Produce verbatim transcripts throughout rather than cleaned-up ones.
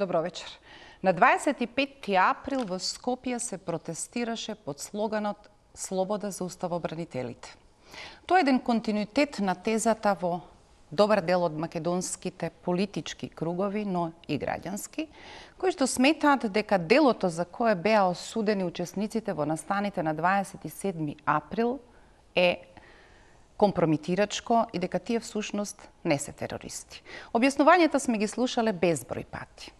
Добро вечер. На дваесет и петти април во Скопје се протестираше под слоганот "Слобода за уставобранителите". Тоа е еден континуитет на тезата во добар дел од македонските политички кругови, но и граѓански, кои што сметаат дека делото за кое беа осудени учесниците во настаните на дваесет и седми април е компромитирачко и дека тие всушност не се терористи. Објаснувањата сме ги слушале безброј пати.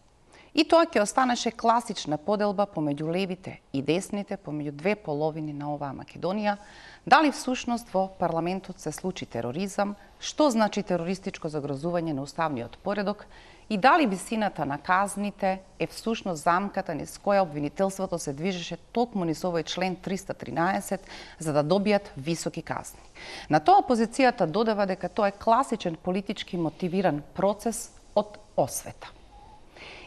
И тоа ќе останеше класична поделба помеѓу левите и десните, помеѓу две половини на оваа Македонија, дали всушност во парламентот се случи тероризам, што значи терористичко загрозување на уставниот поредок и дали висината на казните е всушност замката низ која обвинителството се движеше токму низ овој член триста тринаесет за да добијат високи казни. На тоа опозицијата додава дека тоа е класичен политички мотивиран процес од освета.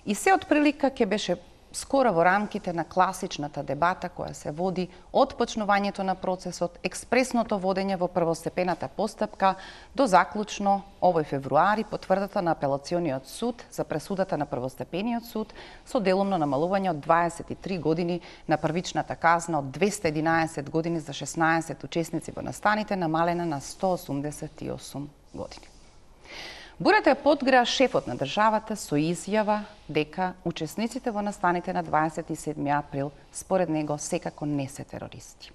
И се од прилика ќе беше скоро во рамките на класичната дебата која се води од почнувањето на процесот, експресното водење во првостепената постапка до заклучно овој февруари потврдата на апелациониот суд за пресудата на првостепениот суд со делумно намалување од дваесет и три години на првичната казна од двесте и единаесет години за шеснаесет учесници во настаните, намалена на сто осумдесет и осум години. Бурата ја подгреа шефот на државата со изјава дека учесниците во настаните на дваесет и седми април според него секако не се терористи.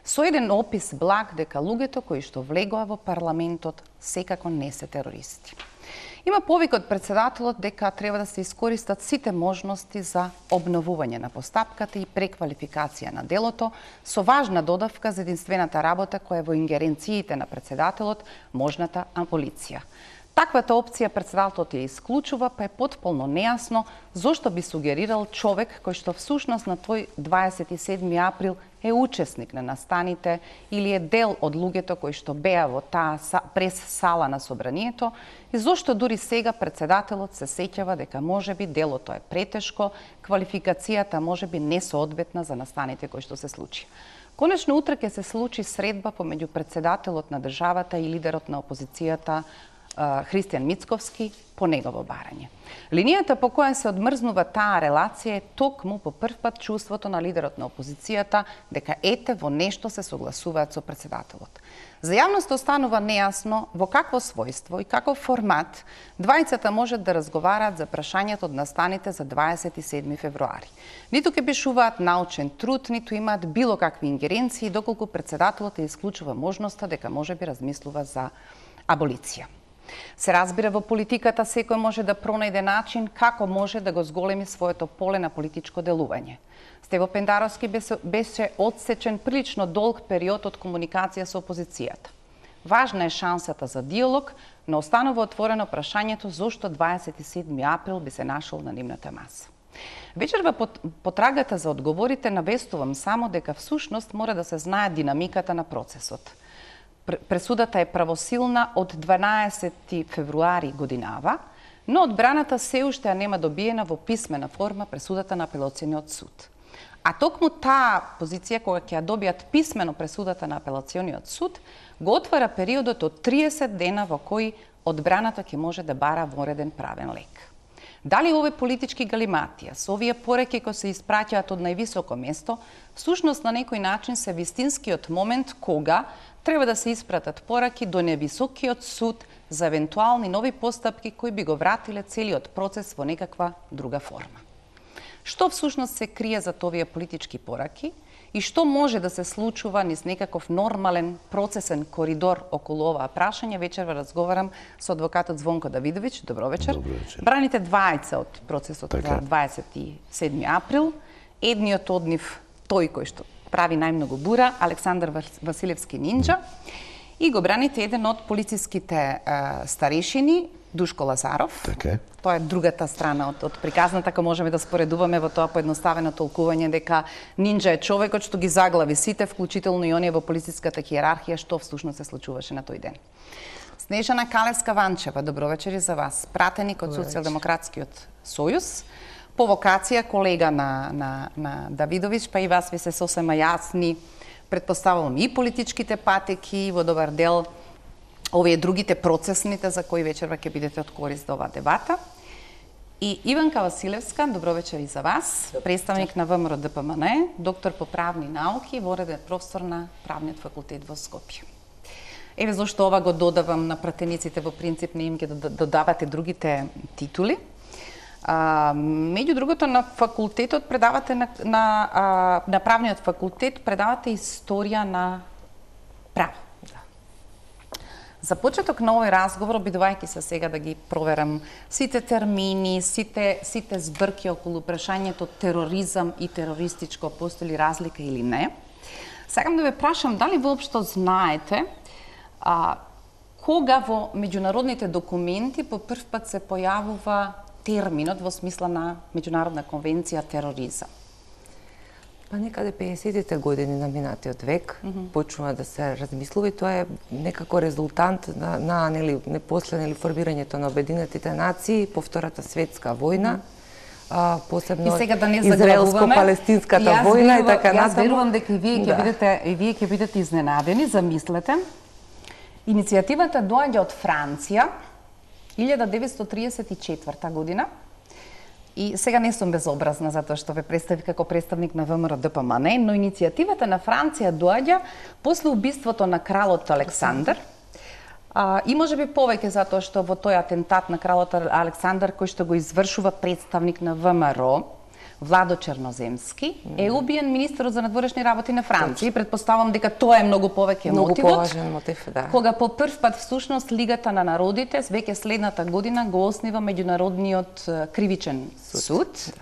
Со еден опис благ дека луѓето кои што влегоа во парламентот секако не се терористи. Има повик од председателот дека треба да се искористат сите можности за обновување на постапката и преквалификација на делото, со важна додавка за единствената работа која е во ингеренциите на председателот, можната аболиција. Таквата опција председателот ја исклучува, па е потполно нејасно зошто би сугерирал човек кој што всушност на тој дваесет и седми април е учесник на настаните или е дел од луѓето кои што беа во таа прес сала на собранието и зошто дури сега председателот се сеќава дека можеби делото е претешко, квалификацијата можеби несоодветна за настаните кои што се случи. Конечно утре ќе се случи средба помеѓу председателот на државата и лидерот на опозицијата Христијан Мицковски по негово барање. Линијата по која се одмрзнува таа релација е токму по прв пат чувството на лидерот на опозицијата дека ете во нешто се согласуваат со председателот. За јавноста останува нејасно во какво својство и каков формат двајцата можат да разговараат за прашањето од настаните за дваесет и седми февруари. Ниту ќе пишуваат научен труд, ниту имаат било какви ингеренции, доколку председателот ја исклучува можноста дека можеби размислува за аболиција. Се разбира, во политиката секој може да пронајде начин како може да го зголеми своето поле на политичко делување. Стево Пендаровски беше одсечен прилично долг период од комуникација со опозицијата. Важна е шансата за диалог, но останува отворено прашањето зошто дваесет и седми април би се нашол на нивната маса. Вечерва потрагата за одговорите навестувам само дека всушност мора да се знае динамиката на процесот. Пресудата е правосилна од дванаесети февруари годинава, но одбраната се уште ја нема добиена во писмена форма пресудата на апелациониот суд. А токму таа позиција кога ќе ја добијат писмено пресудата на апелациониот суд, го отвара периодот од триесет дена во кој одбраната ќе може да бара вореден правен лек. Дали овие политички галиматија, со овие пореки кои се испраќаат од највисоко место, всушност на некој начин се вистинскиот момент кога треба да се испратат пораки до невисокиот суд за евентуални нови постапки кои би го вратиле целиот процес во некаква друга форма. Што всушност се крие за овие политички пораки и што може да се случува низ некаков нормален процесен коридор околу оваа прашање, вечерва разговарам со адвокатот Звонко Давидовиќ. Добро вечер. Добро вечер. Браните двајца од процесот така за дваесет и седми април. Едниот од нив, тој кој што прави најмногу бура, Александар Василевски Нинџа, и го браните еден од полициските е, старешини, Душко Лазаров. Така. Тоа е другата страна од, од приказната, ако можеме да споредуваме во тоа поедноставено толкување дека Нинџа е човекот што ги заглави сите, вклучително и оние во полициската хиерархија, што всушност се случуваше на тој ден. Снежана Калевска-Ванчева, добро вечер и за вас. Пратеник од Социјалдемократскиот сојуз, по вокација колега на, на, на Давидовиќ, па и вас ви се сосема јасни, предпоставувам и политичките патеки, во добар дел овие другите процесните за кои вечерва ќе бидете од корист до оваа дебата. И Иванка Василевска, добро вечер и за вас, представник на ВМРО Д П М Н, доктор по правни науки, вореден професор на Правниот факултет во Скопје. Еве зошто ова го додавам на пратениците, во принцип не им ги додавате другите титули. А, меѓу другото, на факултетот предавате на, на, а, на правниот факултет предавате историја на право. Да. За почеток на овој разговор, обидувајќи се сега да ги проверам сите термини, сите, сите збрки околу прашањето тероризам и терористичко, постои ли разлика или не, сакам да ве прашам дали воопшто знаете а, кога во меѓународните документи по прв пат се појавува терминот во смисла на меѓународна конвенција тероризам? Па некаде пеесеттите години на минатиот век mm -hmm. почнува да се размислува и тоа е некако резултант на, на нели не после нели формирањето на Обединетите нации по Втората светска војна. Mm -hmm. а, посебно да израелско-палестинската војна и така натаму. Јас верувам дека и вие ќе да. бидете и вие ќе бидете изненадени, замислете. Иницијативата доаѓа од Франција илјада деветстотини триесет и четврта година. И сега не сум безобразна затоа што ве представи како представник на ВМРО Д П М Н, но иницијативата на Франција доаѓа после убиството на кралот Александар. А, и можеби повеќе затоа што во тој атентат на кралот Александар кој што го извршува представник на ВМРО, Владо Черноземски, е убиен министерот за надворешни работи на Франција. И предпоставам дека тоа е многу повеќе многу мотивот. поважен мотив, да. Кога по прв пат всушност Лигата на народите веќе следната година го оснива меѓународниот кривичен суд. суд.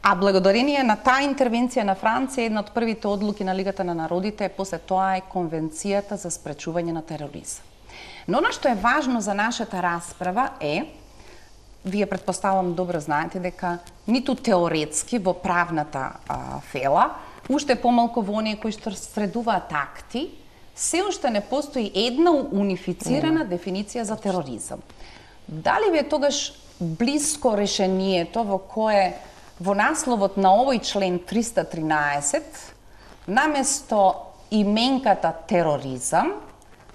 А благодарение на таа интервенција на Франција, една од првите одлуки на Лигата на народите после тоа е Конвенцијата за спречување на тероризам. Но она што е важно за нашата расправа е, вие предпоставам добро знаете дека ниту теоретски во правната а, фела, уште помалку во оние кои што средуваат акти, се уште не постои една унифицирана mm. дефиниција за тероризам. Дали ви е тогаш блиско решението во кое во насловот на овој член триста тринаесет наместо именката тероризам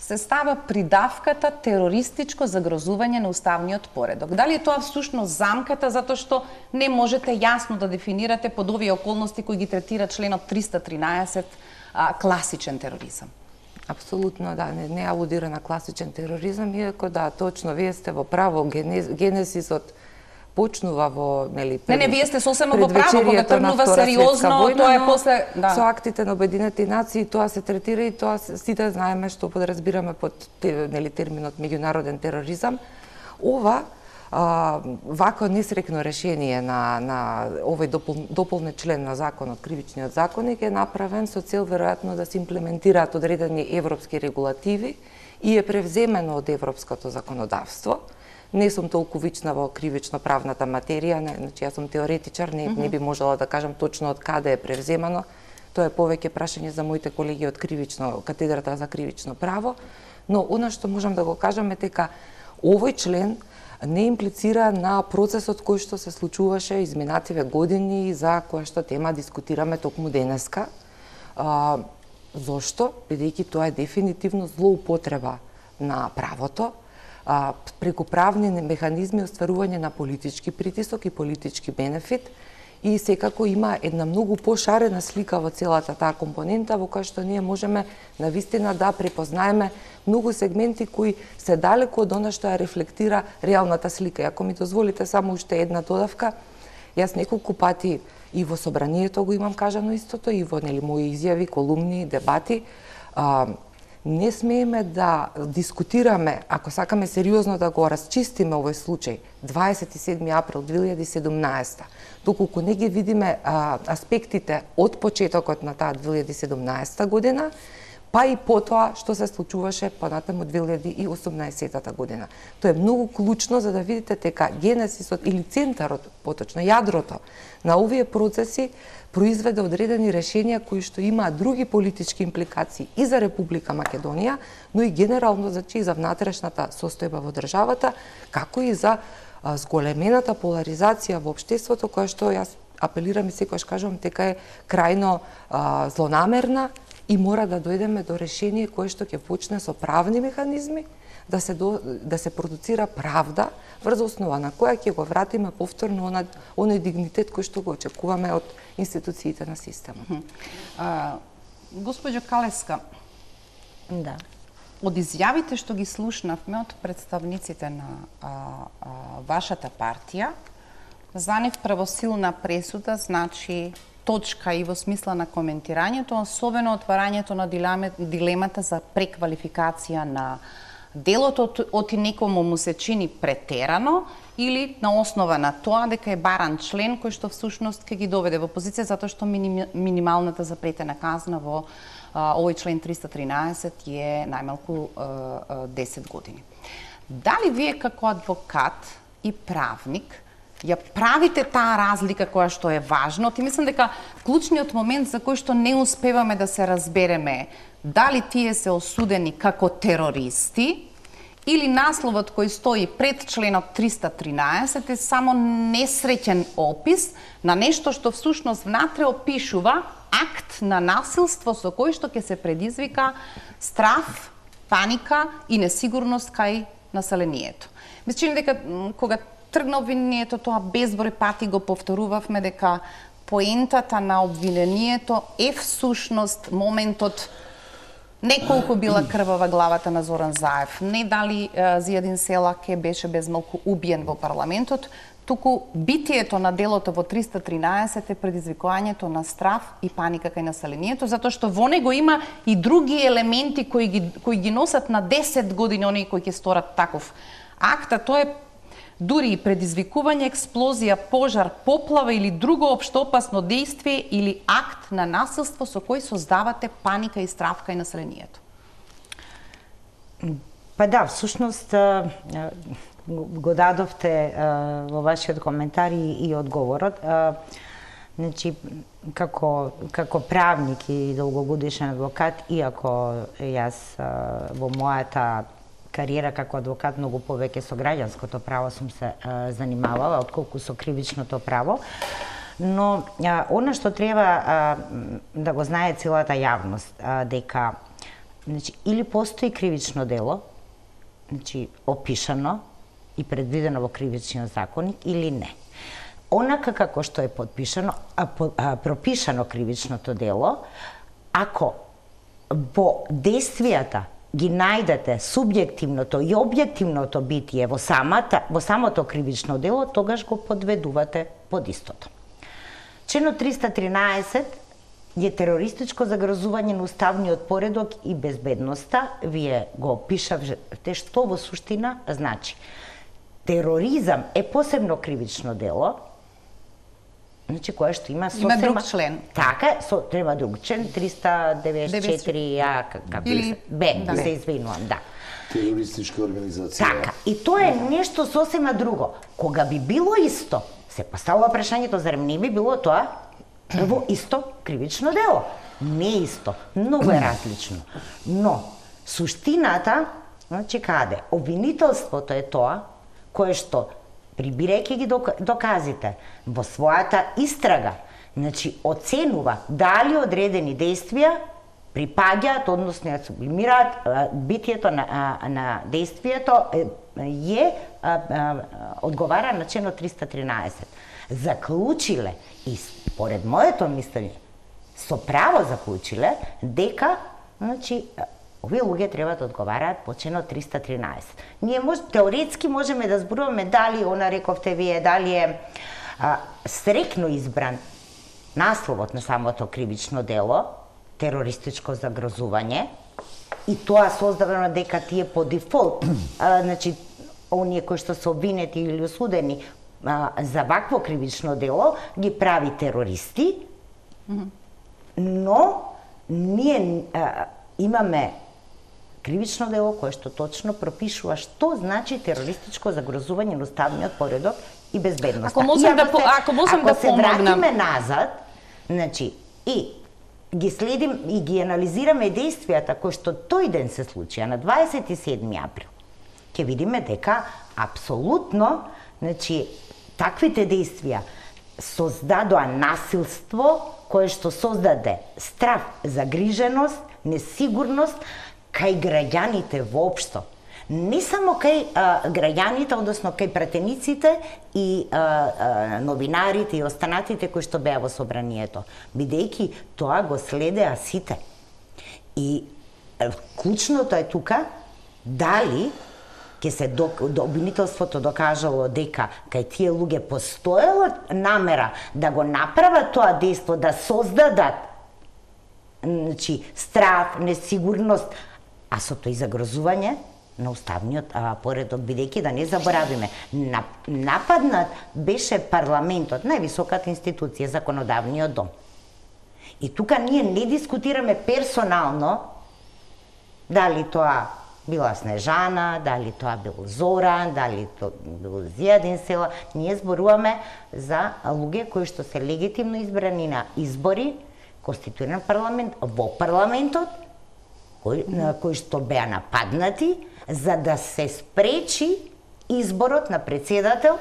се става придавката терористичко загрозување на уставниот поредок? Дали е тоа всушност замката затоа што не можете јасно да дефинирате под овие околности кои ги третира членот триста тринаесет а, класичен тероризам? Апсолутно да, не, не алудира на класичен тероризам, иако да, точно, вие сте во право, генез, генезисот почнува во, нели, пред, не, не, вие сте сосема во право, кога тргнува сериозно, војна, тоа е после, да. Со актите на Обединетите нации тоа се третира и тоа сите знаеме што подразбираме под нели терминот меѓународен тероризам. Ова а, вако несрекно решение на на овој допол, дополнет член на законот, кривичниот законник е направен со цел веројатно да се имплементираат одредени европски регулативи и е превземено од европското законодавство. Не сум толку вична во кривично-правната материја, не, значи јас сум теоретичар, не, mm -hmm. не би можела да кажам точно од каде е превземано. Тоа е повеќе прашање за моите колеги од кривично, катедрата за кривично право, но она што можам да го кажам е дека овој член не имплицира на процесот кој што се случуваше изминативе години за која што тема дискутираме токму денеска. А, зошто? Бидејќи тоа е дефинитивно злоупотреба на правото, А, преку правни механизми остварување на политички притисок и политички бенефит и секако има една многу пошарена слика во целата таа компонента во која што ние можеме навистина да препознаеме многу сегменти кои се далеку од она што ја рефлектира реалната слика. И ако ми дозволите само уште една додавка, јас неколку пати и во собранието го имам кажано истото и во нели мои изјави, колумни, дебати, а, не смееме да дискутираме, ако сакаме сериозно да го расчистиме овој случај, дваесет и седми април две илјади и седумнаесета, доколку не ги видиме а, аспектите од почетокот на таа две илјади и седумнаесета година, па и потоа што се случуваше понатаму две илјади и осумнаесетата година. Тоа е многу клучно за да видите дека генезисот или центарот, поточно јадрото на овие процеси произведе одредени решенија кои што имаат други политички импликации и за Република Македонија, но и генерално значи за внатрешната состојба во државата, како и за а, зголемената поларизација во општеството, која што јас апелирам и секогаш кажувам дека е крајно а, злонамерна и мора да дојдеме до решение кое што ќе почне со правни механизми, да се до, да се продуцира правда врз основа на која ќе го вратиме повторно онај оној дигнитет кој што го очекуваме од институциите на системот. А, Госпоđo Калеска, Да. од изјавите што ги слушнавме од представниците на а, а, вашата партија, за нив правосилна пресуда значи точка и во смисла на коментирањето, особено отварањето на дилемата за преквалификација на делото, од некому му се чини претерано или на основа на тоа дека е баран член кој што всушност ќе ги доведе во позиција затоа што минималната запретена казна во а, овој член триста тринаесет е најмалку а, а, десет години. Дали вие како адвокат и правник ја правите таа разлика која што е важно? Ти мислам дека клучниот момент за кој што не успеваме да се разбереме дали тие се осудени како терористи или насловот кој стои пред членот триста тринаесет е само несреќен опис на нешто што всушност внатре опишува акт на насилство со кој што ќе се предизвика страф, паника и несигурност кај населението. Ми се чини дека кога тргна обвинението, тоа безброј пати го повторувавме дека поентата на обвинението е всушност моментот не колку била крвава главата на Зоран Заев, не дали Зијадин Селаке беше безмалку убиен во парламентот, туку битието на делото во триста тринаесет е предизвикувањето на страф и паника кај населението, затоа што во него има и други елементи кои ги, кои ги носат на десет години оние кои ќе сторат таков акт, а тоа е дури и предизвикување, експлозија, пожар, поплава или друго општо опасно действие или акт на насилство со кој создавате паника и страф кај населението. Па да, всушност го дадовте во вашиот коментар и, и одговорот. Значи, како, како правник и долгогодишен адвокат, иако јас во мојата кариера како адвокат многу повеќе со граѓанското право сум се а, занимавала, отколку со кривичното право. Но а, она што треба а, да го знае целата јавност, а, дека значи, или постои кривично дело, значи, опишано и предвидено во кривичниот законник, или не. Онака како што е подпишано, а, по, а, пропишано кривичното дело, ако во действијата ги најдете субјективното и објективното битие во самата во самото кривично дело, тогаш го подведувате под истото. Членот триста тринаесет е терористичко загрозување на уставниот поредок и безбедноста. Вие го пишавте што во суштина значи. Тероризам е посебно кривично дело, значи кое што има сосема... Има друг член. Така, со, треба друг член, триста деветдесет и четири, а, како Или... Бе, да. се извинувам, да. Терористичка организација. Така, и тоа е нешто сосема друго. Кога би било исто, се поставува прашањето, зарем не би било тоа во исто кривично дело? Не исто, многу е различно. Но, суштината, значи каде? Обвинителството е тоа, кое што прибирајќи ги доказите во својата истрага, значи оценува дали одредени действија припаѓаат, односно ја сублимираат битието на, на действието е одговара на членот триста тринаесет. Заклучиле и според моето мислење со право заклучиле дека значи овие луѓе треба да одговараат по членот триста тринаесет. Ние мож, теоретски можеме да зборуваме дали, она рековте вие, дали е а, срекно избран насловот на самото кривично дело, терористичко загрозување, и тоа создадено дека тие по дефолт, а, значи, оние кои што се обвинети или осудени а, за вакво кривично дело, ги прави терористи, mm-hmm. но ние а, имаме кривично дело кое што точно пропишува што значи терористичко загрозување на уставниот поредок и безбедноста. Ако можам да, се, ако можам да се вратиме назад, значи, и ги следим и ги анализираме действијата кои што тој ден се случија на дваесет и седми април, ќе видиме дека апсолутно, значи, таквите действија создадоа насилство кое што создаде страф, загриженост, несигурност кај граѓаните воопшто. не само кај а, граѓаните, односно кај пратениците и а, а, новинарите и останатите кои што беа во собранието, бидејќи тоа го следеа сите. И а, клучното е тука дали ќе се до, до, обвинителството докажало дека кај тие луѓе постоела намера да го направат тоа дејство, да создадат значи страв, несигурност, а со тој загрозување на уставниот а, поредок, бидејќи да не заборавиме, нападнат беше парламентот, највисоката институција, законодавниот дом. И тука ние не дискутираме персонално дали тоа била Снежана, дали тоа бил Зоран, дали тоа бил Зијадин Села. Ние зборуваме за луѓе кои што се легитимно избрани на избори, конституиран парламент, во парламентот, кои, mm-hmm. кои што беа нападнати, за да се спречи изборот на председател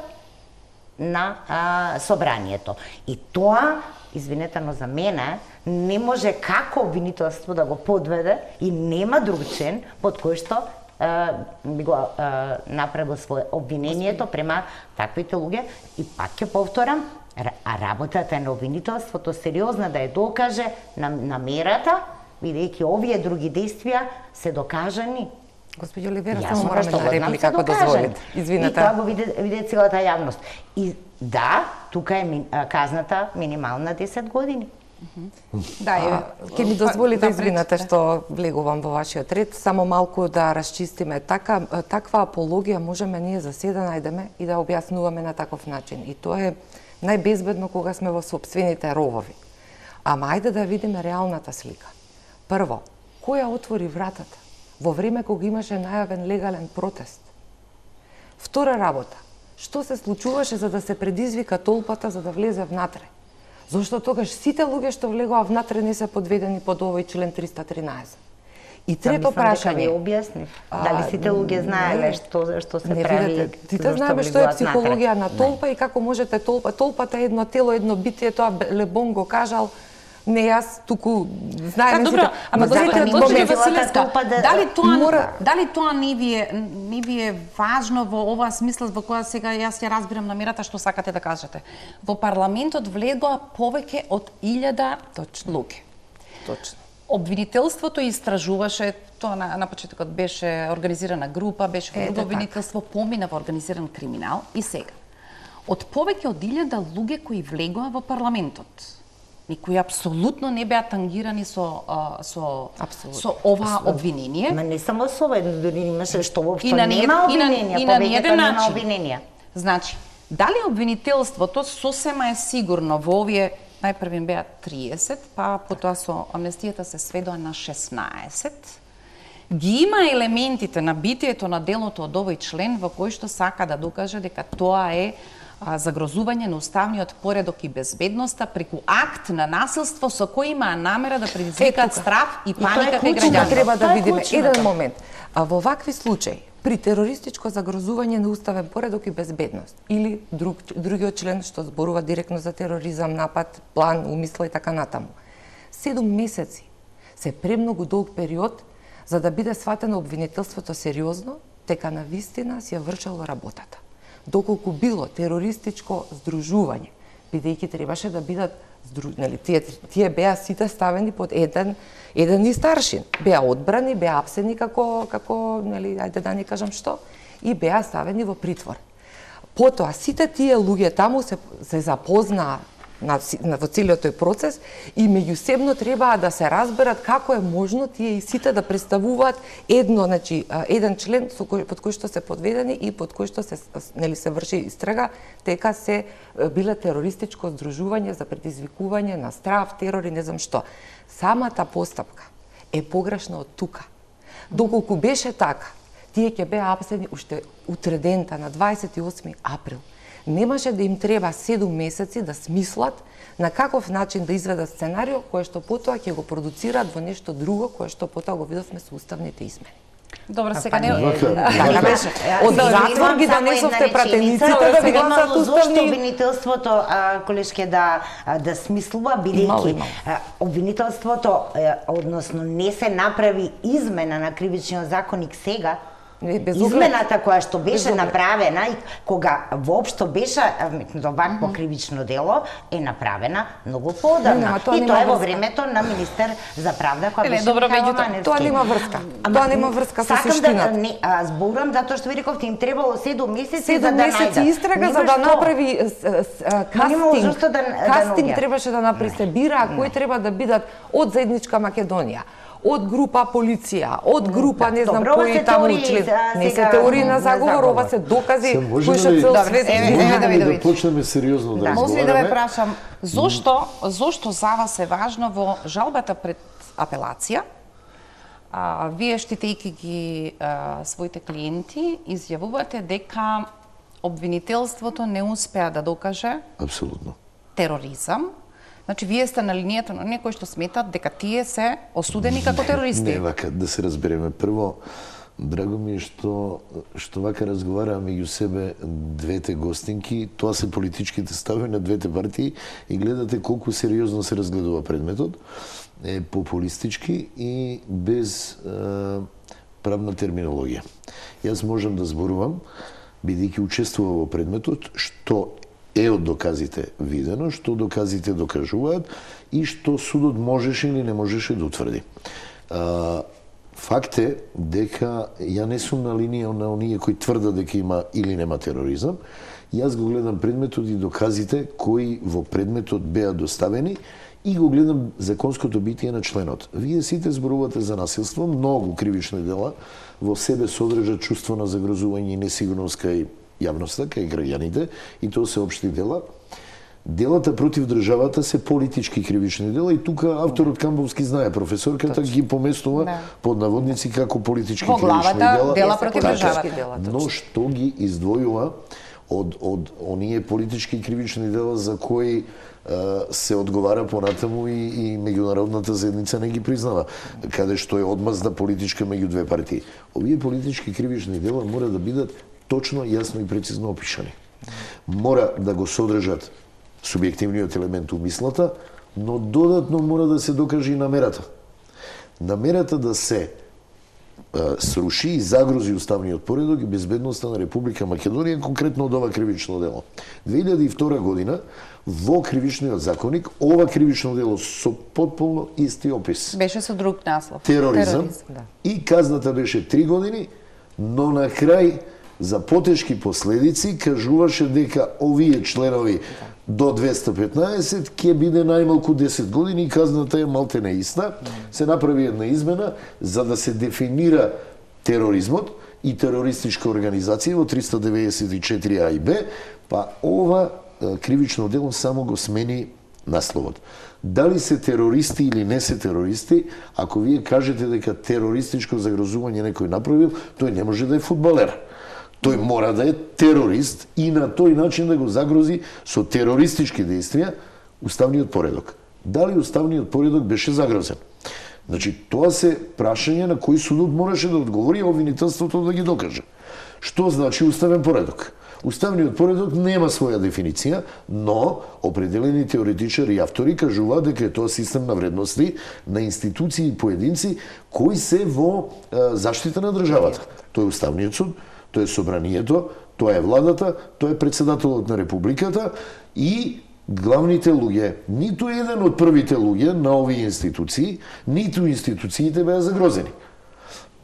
на а, собранието. И тоа, извинете, но за мене, не може како обвинителство да го подведе и нема друг член под кој што би го а, направил свое обвинението према таквите луѓе. И пак ќе повторам, а работата на обвинителството сериозна да ја докаже на намерата, бидејќи овие други действија се докажани. Господи Оливера, само мораме да реплика ако дозволите. Извинете. И тоа го виде, виде целата јавност. И да, тука е ми, казната минимална десет години. Да, е, ќе ми дозволите, извинете што влегувам во вашиот ред, само малку да расчистиме. Така, таква апологија можеме ние за се да најдеме и да објаснуваме на таков начин. И тоа е најбезбедно кога сме во сопствените ровови. Ама ајде да видиме реалната слика. Прво, која отвори вратата во време кога имаше најавен легален протест? Втора работа, што се случуваше за да се предизвика толпата за да влезе внатре? Зошто тогаш сите луѓе што влегоа внатре не се подведени под овој член триста тринаесет? И трето прашање. Ви објаснив. Дали сите луѓе знаеле што што се не, прави? Видете, сите знаеме што е психологија на толпа не. И како можете толпа, толпата е едно тело, едно битие, тоа Лебон го кажал. Не јас туку знаеме сите. Добро, ама дозволете да Василеска, дали тоа мора... дали тоа не ви е не ви е важно во оваа смисла во која сега јас ја разбирам намерата што сакате да кажете. Во парламентот влегоа повеќе од илјада луѓе. Точно. Обвинителството истражуваше, тоа на, на почетокот беше организирана група, беше во друго обвинителство, помина во организиран криминал и сега. Од повеќе од илјада луѓе кои влегоа во парламентот, и кои апсолутно не беа тангирани со а, со Абсолютно. Со ова обвинение. Ма не само со ова, дури имаше што воопшто нема обвиненија, и на еден нема начин. обвиненија. Значи, дали обвинителството сосема е сигурно во овие најпрви беа триесет, па потоа со амнестијата се сведоа на шеснаесет. Ги има елементите на битието на делото од овој член во кој што сака да докаже дека тоа е загрозување на уставниот поредок и безбедноста преку акт на насилство со кој имаа намера да предизвикаат страв и паника кај граѓаните. Треба да видиме еден момент. А во вакви случаи, при терористичко загрозување на уставен поредок и безбедност или друг, другиот член што зборува директно за тероризам, напад, план, умисла и така натаму, седум месеци се премногу долг период за да биде сватено обвинителството сериозно, дека на вистина си ја вршело работата. Доколку било терористичко здружување, бидејќи требаше да бидат нели, тие, тие беа сите ставени под еден еден и старшин. Беа одбрани, беа апсени како како нели, ајде да не кажам што, и беа ставени во притвор. Потоа сите тие луѓе таму се се запознаа на, на во целиот тој процес и меѓусебно требаа да се разберат како е можно тие и сите да представуваат едно, значи еден член со кој, под кој што се подведени и под кој што се нели се врши истрага дека се биле терористичко здружување за предизвикување на страв, терор и не знам што. Самата постапка е погрешна од тука. Доколку беше така, тие ќе беа апсени уште утре дента на дваесет и осми април. Немаше да им треба седум месеци да смислат на каков начин да изведат сценарио кое што потоа ќе го продуцираат во нешто друго кое што потоа го видовме со уставните измени. Добро, сега не... Така беше. Од затвор ги донесовте пратениците да ви гласат уставни... Зошто обвинителството, колешке, да да смислува, бидејќи обвинителството, односно не се направи измена на кривичниот законник сега, Не, без оглед. Измената која што Без беше оглед. направена и кога воопшто беше вметнато вакво кривично дело е направена многу Не, поодамна. нема, тоа И нема тоа е во врска. времето на министер за правда која Еле, беше добро, Михајло меѓутоа, Маневски. Тоа нема врска. Ама, Тоа нема врска со сакам суштината. да не, а, зборам затоа што ви рековте им требало седум месеци за Седум да месеци најдат. истрага Нема за да што. направи с- с- а, Ма нема кастинг. зашто да- да Кастинг наоѓа. требаше да направи се бира кои треба да бидат од заедничка Македонија, од група полиција, од група не знам Добро, ова кои се таму теории член. за Не се сега, теории на на заговор, заговор. ова се докази Се можеме кои што ли- цел Добре, свет еве, знае. еве, Можеме ли да Давидовиќ. почнеме сериозно да Може ли да разговараме? ве прашам, зошто, зошто за вас е важно во жалбата пред апелација, а, вие штитејќи ги а, своите клиенти, изјавувате дека обвинителството не успеа да докаже Апсолутно. тероризам. Значи, вие сте на линијата на некои што сметат дека тие се осудени како терористи. Не, вака, да се разбереме. Прво, драго ми е што, што вака разговараа меѓу себе двете гостинки, тоа се политичките стави на двете партии и гледате колку сериозно се разгледува предметот, е популистички и без е, правна терминологија. Јас можам да зборувам, бидејќи учествував во предметот, што е од доказите видено, што доказите докажуваат и што судот можеше или не можеше да утврди. А, факт е дека ја не сум на линија на оние кои тврдат дека има или нема тероризам. Јас го гледам предметот и доказите кои во предметот беа доставени и го гледам законското битие на членот. Вие сите зборувате за насилство, многу кривични дела во себе содржат чувство на загрозување и несигурност кај јавноста, кај граѓаните, и тоа се општи дела. Делата против државата се политички кривични дела и тука авторот Камбовски знае, професорката ги поместува Да. под наводници како политички Во кривични главата дела. дела против Така, државата. Но што ги издвојува од од оние политички кривични дела за кои е, се одговара понатаму и, и меѓународната заедница не ги признава, каде што е одмазда политичка меѓу две партии. Овие политички кривични дела мора да бидат точно, јасно и прецизно опишани. Мора да го содржат субјективниот елемент у мислата, но додатно мора да се докаже и намерата. Намерата да се е, сруши и загрози уставниот поредок и безбедноста на Република Македонија, конкретно од ова кривично дело. две илјади и втора година во кривичниот законник ова кривично дело со потполно исти опис. Беше со друг наслов. Тероризам, да. и казната беше три години, но на крај за потешки последици кажуваше дека овие членови до двеста петнаесет ќе биде најмалку десет години и казната е малте иста. Се направи една измена за да се дефинира тероризмот и терористичка организација во триста деветдесет и четири а и б, па ова е, кривично дело само го смени насловот. Дали се терористи или не се терористи, ако вие кажете дека терористичко загрозување некој направил, тој не може да е фудбалер. Тој мора да е терорист и на тој начин да го загрози со терористички действија уставниот поредок. Дали уставниот поредок беше загрозен? Значи, тоа се прашање на кој судот мораше да одговори, а обвинителството да ги докаже. Што значи уставен поредок? Уставниот поредок нема своја дефиниција, но определени теоретичари и автори кажуваат дека е тоа систем на вредности на институции и поединци кои се во е, заштита на државата. Тоа е уставниот суд, тоа е собранието, тоа е владата, тоа е председателот на републиката и главните луѓе. Ниту еден од првите луѓе на овие институции, ниту институциите беа загрозени.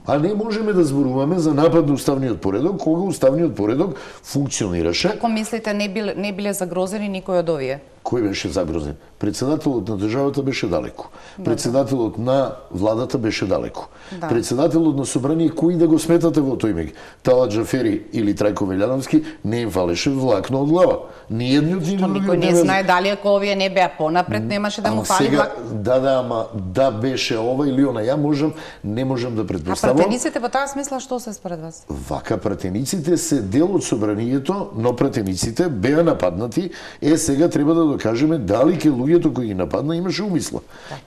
А не можеме да зборуваме за напад на уставниот поредок, кога уставниот поредок функционираше. Ако мислите не биле, не биле загрозени никој од овие? Кој беше загрозен? Председателот на државата беше далеко. Председателот на владата беше далеко. Да. Председателот на собрание, кои да го сметате во тој меѓ? Талат Джафери или Трајко Велјановски, не им фалеше влакно од глава. Ни едниот ни другиот Никој не бе- знае дали ако овие не беа понапред, немаше да му Ама фали сега, влак. да, да, ама да беше ова или она, ја можам, не можам да А предпоставам. пратениците во таа смисла што се според вас? Вака пратениците се дел од собранието, но пратениците беа нападнати. Е, сега треба да докажеме дали ке луѓето кои ги нападна имаше умисла.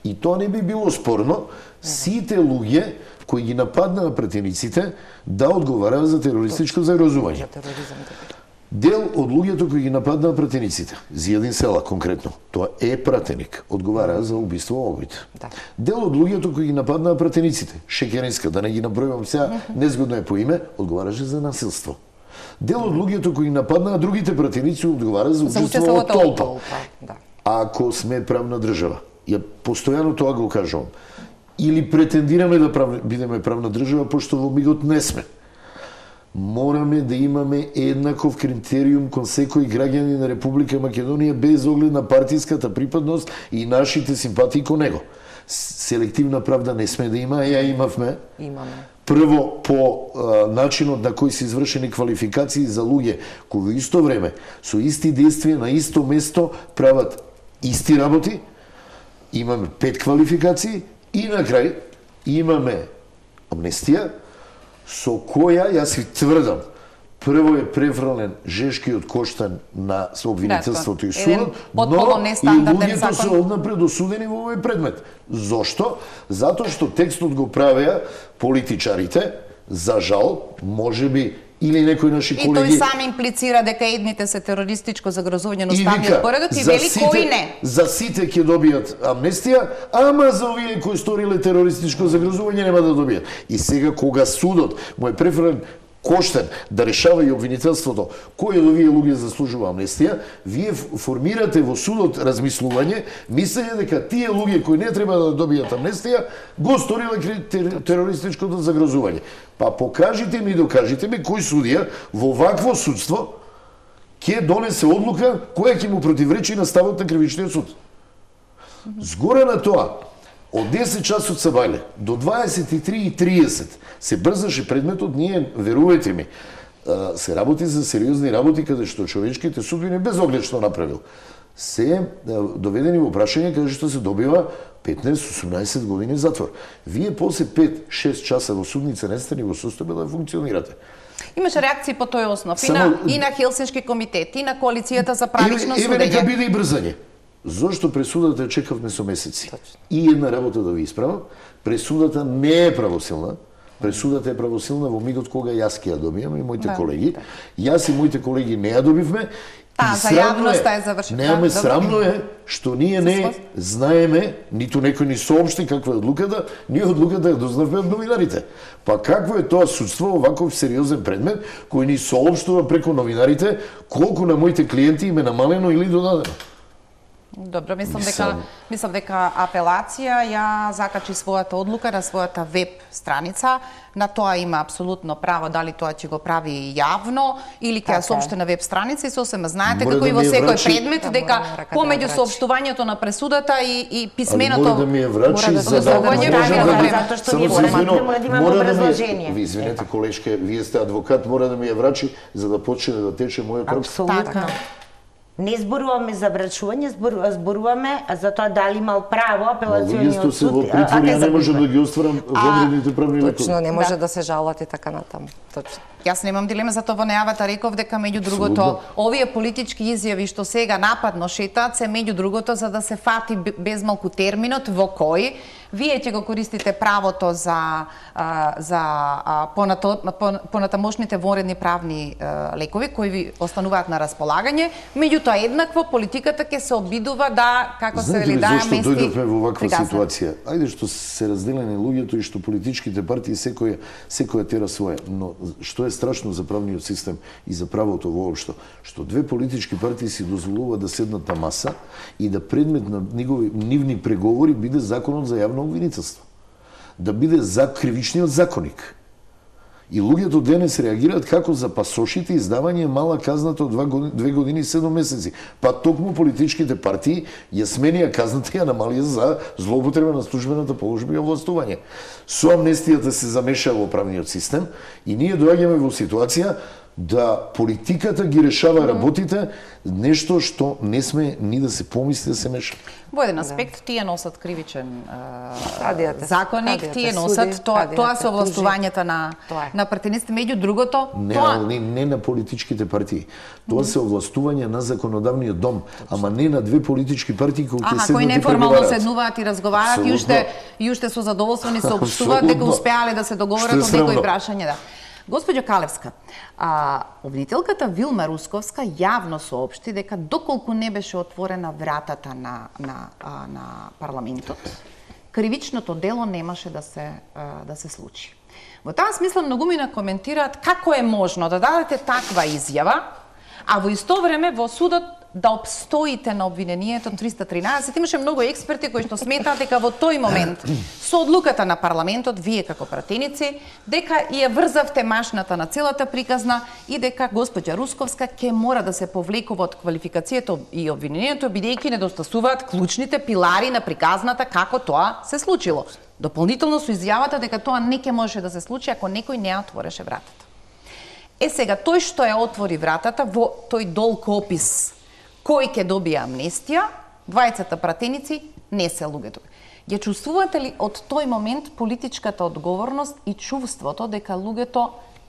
И тоа не би било спорно, сите луѓе кои ги нападнаа пратениците да одговараат за терористичко загрозување. За тероризам. Дел од луѓето кои ги нападнаа пратениците, Зијадин Села конкретно, тоа е пратеник, одговара за убиство овојте. Да. Дел од луѓето кои ги нападнаа пратениците, Шекеринска, да не ги набројувам сега, незгодно е по име, одговараше за насилство. Дел од луѓето кои нападнаа другите пратеници одговара за учество во толпа. Да. Ако сме правна држава, ја постојано тоа го кажувам, или претендираме да прав... бидеме правна држава, пошто во мигот не сме, мораме да имаме еднаков критериум кон секој граѓанин на Република Македонија без оглед на партиската припадност и нашите симпатии кон него. Селективна правда не сме да има, ја имавме. Имаме. Прво по а, начинот на кој се извршени квалификации за луѓе кои во исто време со исти действија на исто место прават исти работи. Имаме пет квалификации и на крај имаме амнестија со која јас ви тврдам, прво е префрлен Жешкиот Коштан на сообвинителството и судот, но и луѓето се однапред осудени во овој предмет. Зошто? Затоа што текстот го правеа политичарите, за жал, можеби или некои наши колеги... И тој сам имплицира дека едните се терористичко загрозување на уставниот поредок и вели кои не. За сите ќе добијат амнестија, ама за овие кои сториле терористичко загрозување нема да добијат. И сега кога судот му е префрлен Коштен да решава и обвинителството кој од овие луѓе заслужува амнестија, вие формирате во судот размислување, мислење дека тие луѓе кои не треба да добијат амнестија го сториле терористичкото загрозување. Па покажите ми и докажите ми кој судија во вакво судство ќе донесе одлука која ќе му противречи на ставот на кривичниот суд. Згоре на тоа, од десет часот сабајле до дваесет и три и тридесет се брзаше предметот, ние, верувајте ми, се работи за сериозни работи каде што човечките судбини без оглед што направил се доведени во прашање каде што се добива петнаесет до осумнаесет години затвор. Вие после пет-шест часа во судница не сте ни во состојба да функционирате. Имаше реакции по тој основ и Само... на, и на Хелсиншки комитет, и на Коалицијата за правично судење. Еве нека биде и брзање. Зошто пресудата чекавме со месеци? Точно. И една работа да ви исправам, пресудата не е правосилна. Пресудата е правосилна во мигот кога јас ќе ја добијам и моите да, колеги. Да. Јас и моите колеги не ја добивме. Та, за јавноста е завршена. Неаме да, срамно е што ние не знаеме, ниту некој ни соопшти каква е одлуката, ние одлуката ја дознавме од новинарите. Па какво е тоа судство, оваков сериозен предмет, кој ни соопштува преку новинарите, колку на моите клиенти им е намалено или додадено? Добро, мислам дека мислам дека апелација ја закачи својата одлука на својата веб страница. На тоа има апсолутно право, дали тоа ќе го прави јавно или ќе ја соопшти на веб страница и сосема знаете како и во секој предмет дека помеѓу соопштувањето на пресудата и и писменото мора да ми ја врачи за да затоа што ние мора да имаме образложение. Ви извинете колешке, вие сте адвокат, мора да ми ја врачи за да почне да тече мојот рок. Апсолутно. Не зборуваме за врачување, зборуваме за тоа дали имал право апелациониот суд. Се во притвор, ја не може да ги остварам вредните правни лекови. Точно, не може да се жалат и така натаму. Точно. Јас немам дилема, затоа во најавата реков дека меѓу другото овие политички изјави што сега нападно шетаат се меѓу другото за да се фати безмалку терминот во кој вие ќе го користите правото за а, за а, понато, понатамошните вонредни правни а, лекови кои ви остануваат на располагање, меѓутоа еднакво политиката ќе се обидува да како се вели да мести. Зошто дојдовме во ваква ситуација? Ајде што се разделени луѓето и што политичките партии секоја секоја тера своја, но што е страшно за правниот систем и за правото воопшто, што две политички партии си дозволуваат да седнат на маса и да предмет на негови нивни преговори биде законот за јавно обвинителство. Да биде за кривичниот законник. И луѓето денес реагираат како за пасошите издавање мала казната од две години и седум месеци. Па токму политичките партии ја сменија казната и ја намалија за злоупотреба на службената положба и овластување. Со амнестијата се замеша во правниот систем и ние доаѓаме во ситуација да политиката ги решава работите, нешто што не сме ни да се помисли да се меша. Во еден аспект да. Тие носат кривичен Кадијата, законник, кадијата, тие носат суди, тоа кадијата, тоа се овластувањата на на претениците, меѓу другото, не, тоа не, не на политичките партии. Тоа се овластување на законодавниот дом, ама не на две политички партии кои ќе седнат кои и неформално седнуваат и разговараат и уште и уште со задоволство ни соопштуваат дека успеале да се договорат од некои прашања, да. Госпоѓо Калевска, а, обвинителката Вилма Русковска јавно соопшти дека доколку не беше отворена вратата на, на, а, на парламентот, кривичното дело немаше да се, а, да се случи. Во таа смисла многумина коментираат како е можно да дадете таква изјава, а во исто време во судот да обстоите на обвинението триста тринаесет. Имаше многу експерти кои што сметаат дека во тој момент со одлуката на парламентот, вие како пратеници, дека ја врзавте машната на целата приказна и дека госпоѓа Русковска ќе мора да се повлекува од квалификацијата и обвинението, бидејќи недостасуваат клучните пилари на приказната како тоа се случило. Дополнително со изјавата дека тоа не ќе можеше да се случи ако некој не ја отвореше вратата. Е сега, тој што ја отвори вратата во тој долг опис кој ќе добие амнестија, двајцата пратеници не се луѓето. Ја чувствувате ли од тој момент политичката одговорност и чувството дека луѓето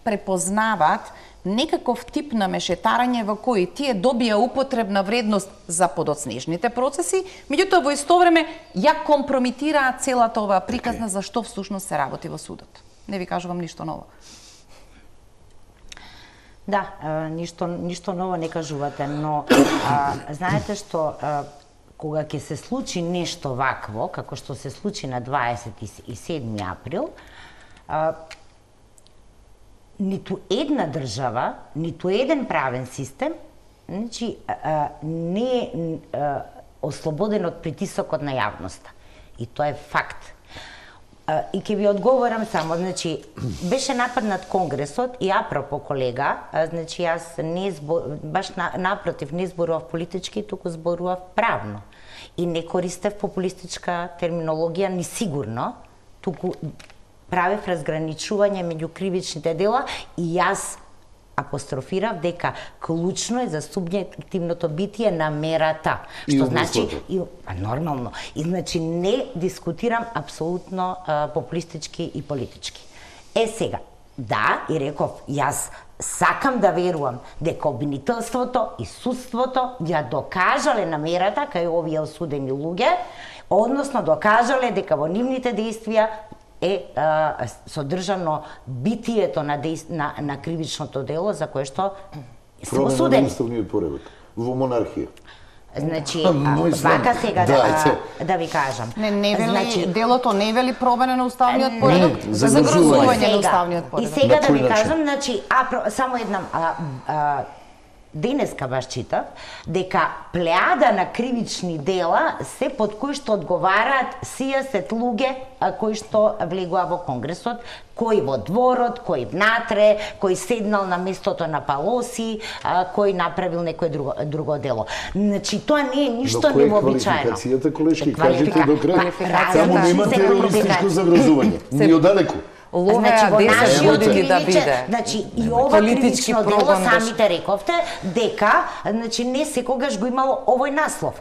препознаваат некаков тип на мешетарање во кој тие добија употребна вредност за подоцнежните процеси, меѓутоа во исто време ја компромитираат целата оваа приказна за што всушност се работи во судот? Не ви кажувам ништо ново. Да, а, ништо, ништо ново не кажувате, но а, знаете што, а, кога ќе се случи нешто вакво, како што се случи на дваесет и седми април, а, ниту една држава, ниту еден правен систем, значи, а, не е а, ослободен од притисокот на јавноста. И тоа е факт. И ќе ви одговорам само, значи, беше нападнат Конгресот и апропо колега, значи јас не збор, баш на, напротив не зборував политички, туку зборував правно. И не користев популистичка терминологија ни сигурно, туку правев разграничување меѓу кривичните дела и јас апострофирав дека клучно е за субјективното битие на мерата. И што значи и а, нормално. И значи не дискутирам апсолутно а, популистички и политички. Е сега, да, и реков, јас сакам да верувам дека обвинителството и судството ја докажале намерата кај овие осудени луѓе, односно докажале дека во нивните действија е а, содржано битието на, действ... на, на кривичното дело за кое што се осудени. Промена на уставниот поредок во монархија. Значи, а, вака сега да, а, да ви кажам. Не, не вели, значи, делото не вели промена на уставниот поредок, за загрозување на уставниот И поредок. сега На да ви кој начин? кажам, значи, а, само една, а, а, денеска баш читав, дека плеада на кривични дела се под кои што одговараат сијасет луѓе а, кои што влегува во Конгресот, кој во дворот, кој внатре, кој седнал на местото на Палоси, а, кој направил некое друго, друго дело. Значи, тоа не е ништо невообичаено. Квалификацијата, колешки, Квалифика- кажете до крај. квалификацијата Само нема се терористичко квалификација. загрозување. Ни одалеку. Ловеа во десет нашиот години да кривичен- биде. Значи, и ова Политички кривично дело, прогон беше. самите рековте, дека, значи, не секогаш го имало овој наслов.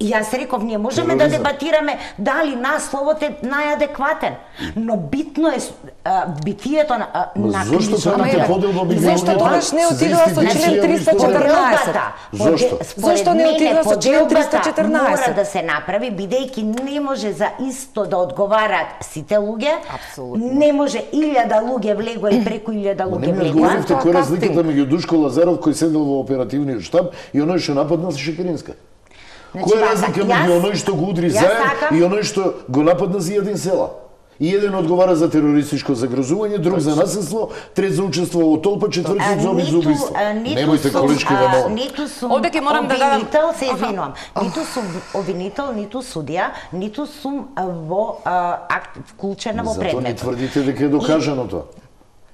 И јас реков, ние можеме да Тероризам. дебатираме дали насловот е најадекватен, но битно е а, битието на, а, Ма на зошто кривично правите дело. поделба меѓу Зашто луѓето тогаш не за отидува со член институција триста и историја? четрнаесет? Поделбата, Зошто? поде- според Зошто не мене, отидува со член поделбата триста четрнаесет? Мора да се направи, бидејќи не може за исто да одговараат сите луѓе. Апсолутно. Не може илјада луѓе влегува и преку илјада Ма луѓе не ми влегува. одговоривте кој е Тоа разликата кастинг. меѓу Душко Лазаров кој седел во оперативниот штаб и оној што нападна Шекеринска. Значи, Која е вака, разлика јас- меѓу оној што го удри јас заед сакам- и оној што го нападна за еден села? И еден одговара за терористичко загрозување, друг за насилство, трет за учество во толпа, четвртиот за обид за ниту- убиство. а, ниту Немојте сум, колешки а, да молам. Ниту сум Овде ќе морам да дадам- обвинител, се Аха. извинувам. Ниту сум обвинител, ниту судија, ниту сум а, во а, акт вклучена во Затоа не предметот. тврдите дека е докажано тоа.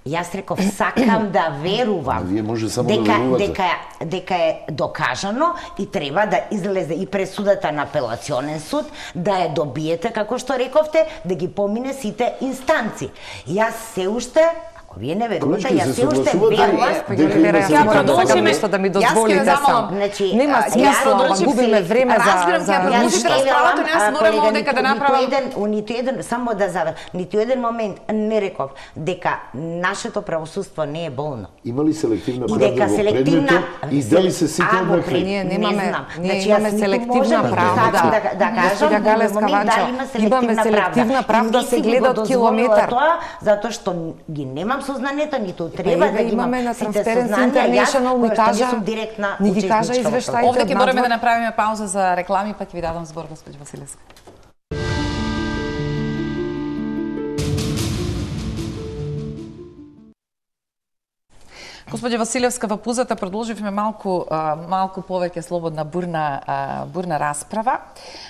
Јас реков, сакам да верувам А вие може само да дека, верувате. дека, дека е докажано и треба да излезе и пресудата на апелационен суд, да ја добиете, како што рековте, да ги помине сите инстанци. Јас се уште, ако вие не верувате, Колешки, јас се се уште согласувате верувам. дека има Ја се морам да продолжиме. сакам нешто да ми Јас ќе дозволите замолам. само. Значи, Нема а, смисла, јас ама продолжив губиме се- време за разбирам, за ќе продолжите ништо. расправата, јас а, морам колега, овдека да ниту- направам- Ниту еден, у ниту еден, само да завр, ниту еден момент не реков дека нашето правосудство не е болно. Има ли селективна И правда дека во селективна предметот и дали се сите А, во однакви? пред- Ние не немаме- знам. ние Значи, имаме јас ниту селективна можам да правда. сакам да, да кажам, Госпоѓа во Галеска момент Ванчо, дали има имаме селективна селективна правда. правда, Не се си гледа го од дозволила километар. Тоа, затоа што ги немам имам сознанието, ниту Па треба еве, да ги имам имаме на сите Transparency сознанија, јас International ни која што кажа- не сум директна ни ги кажа учесничка во тоа. извештаите. Овде ќе од мораме надвор. да направиме пауза за реклами, па ќе ви дадам збор, госпоѓа Василевска. Господја Василевска, во пузата продолживме малку а, малку повеќе слободна бурна а, бурна расправа.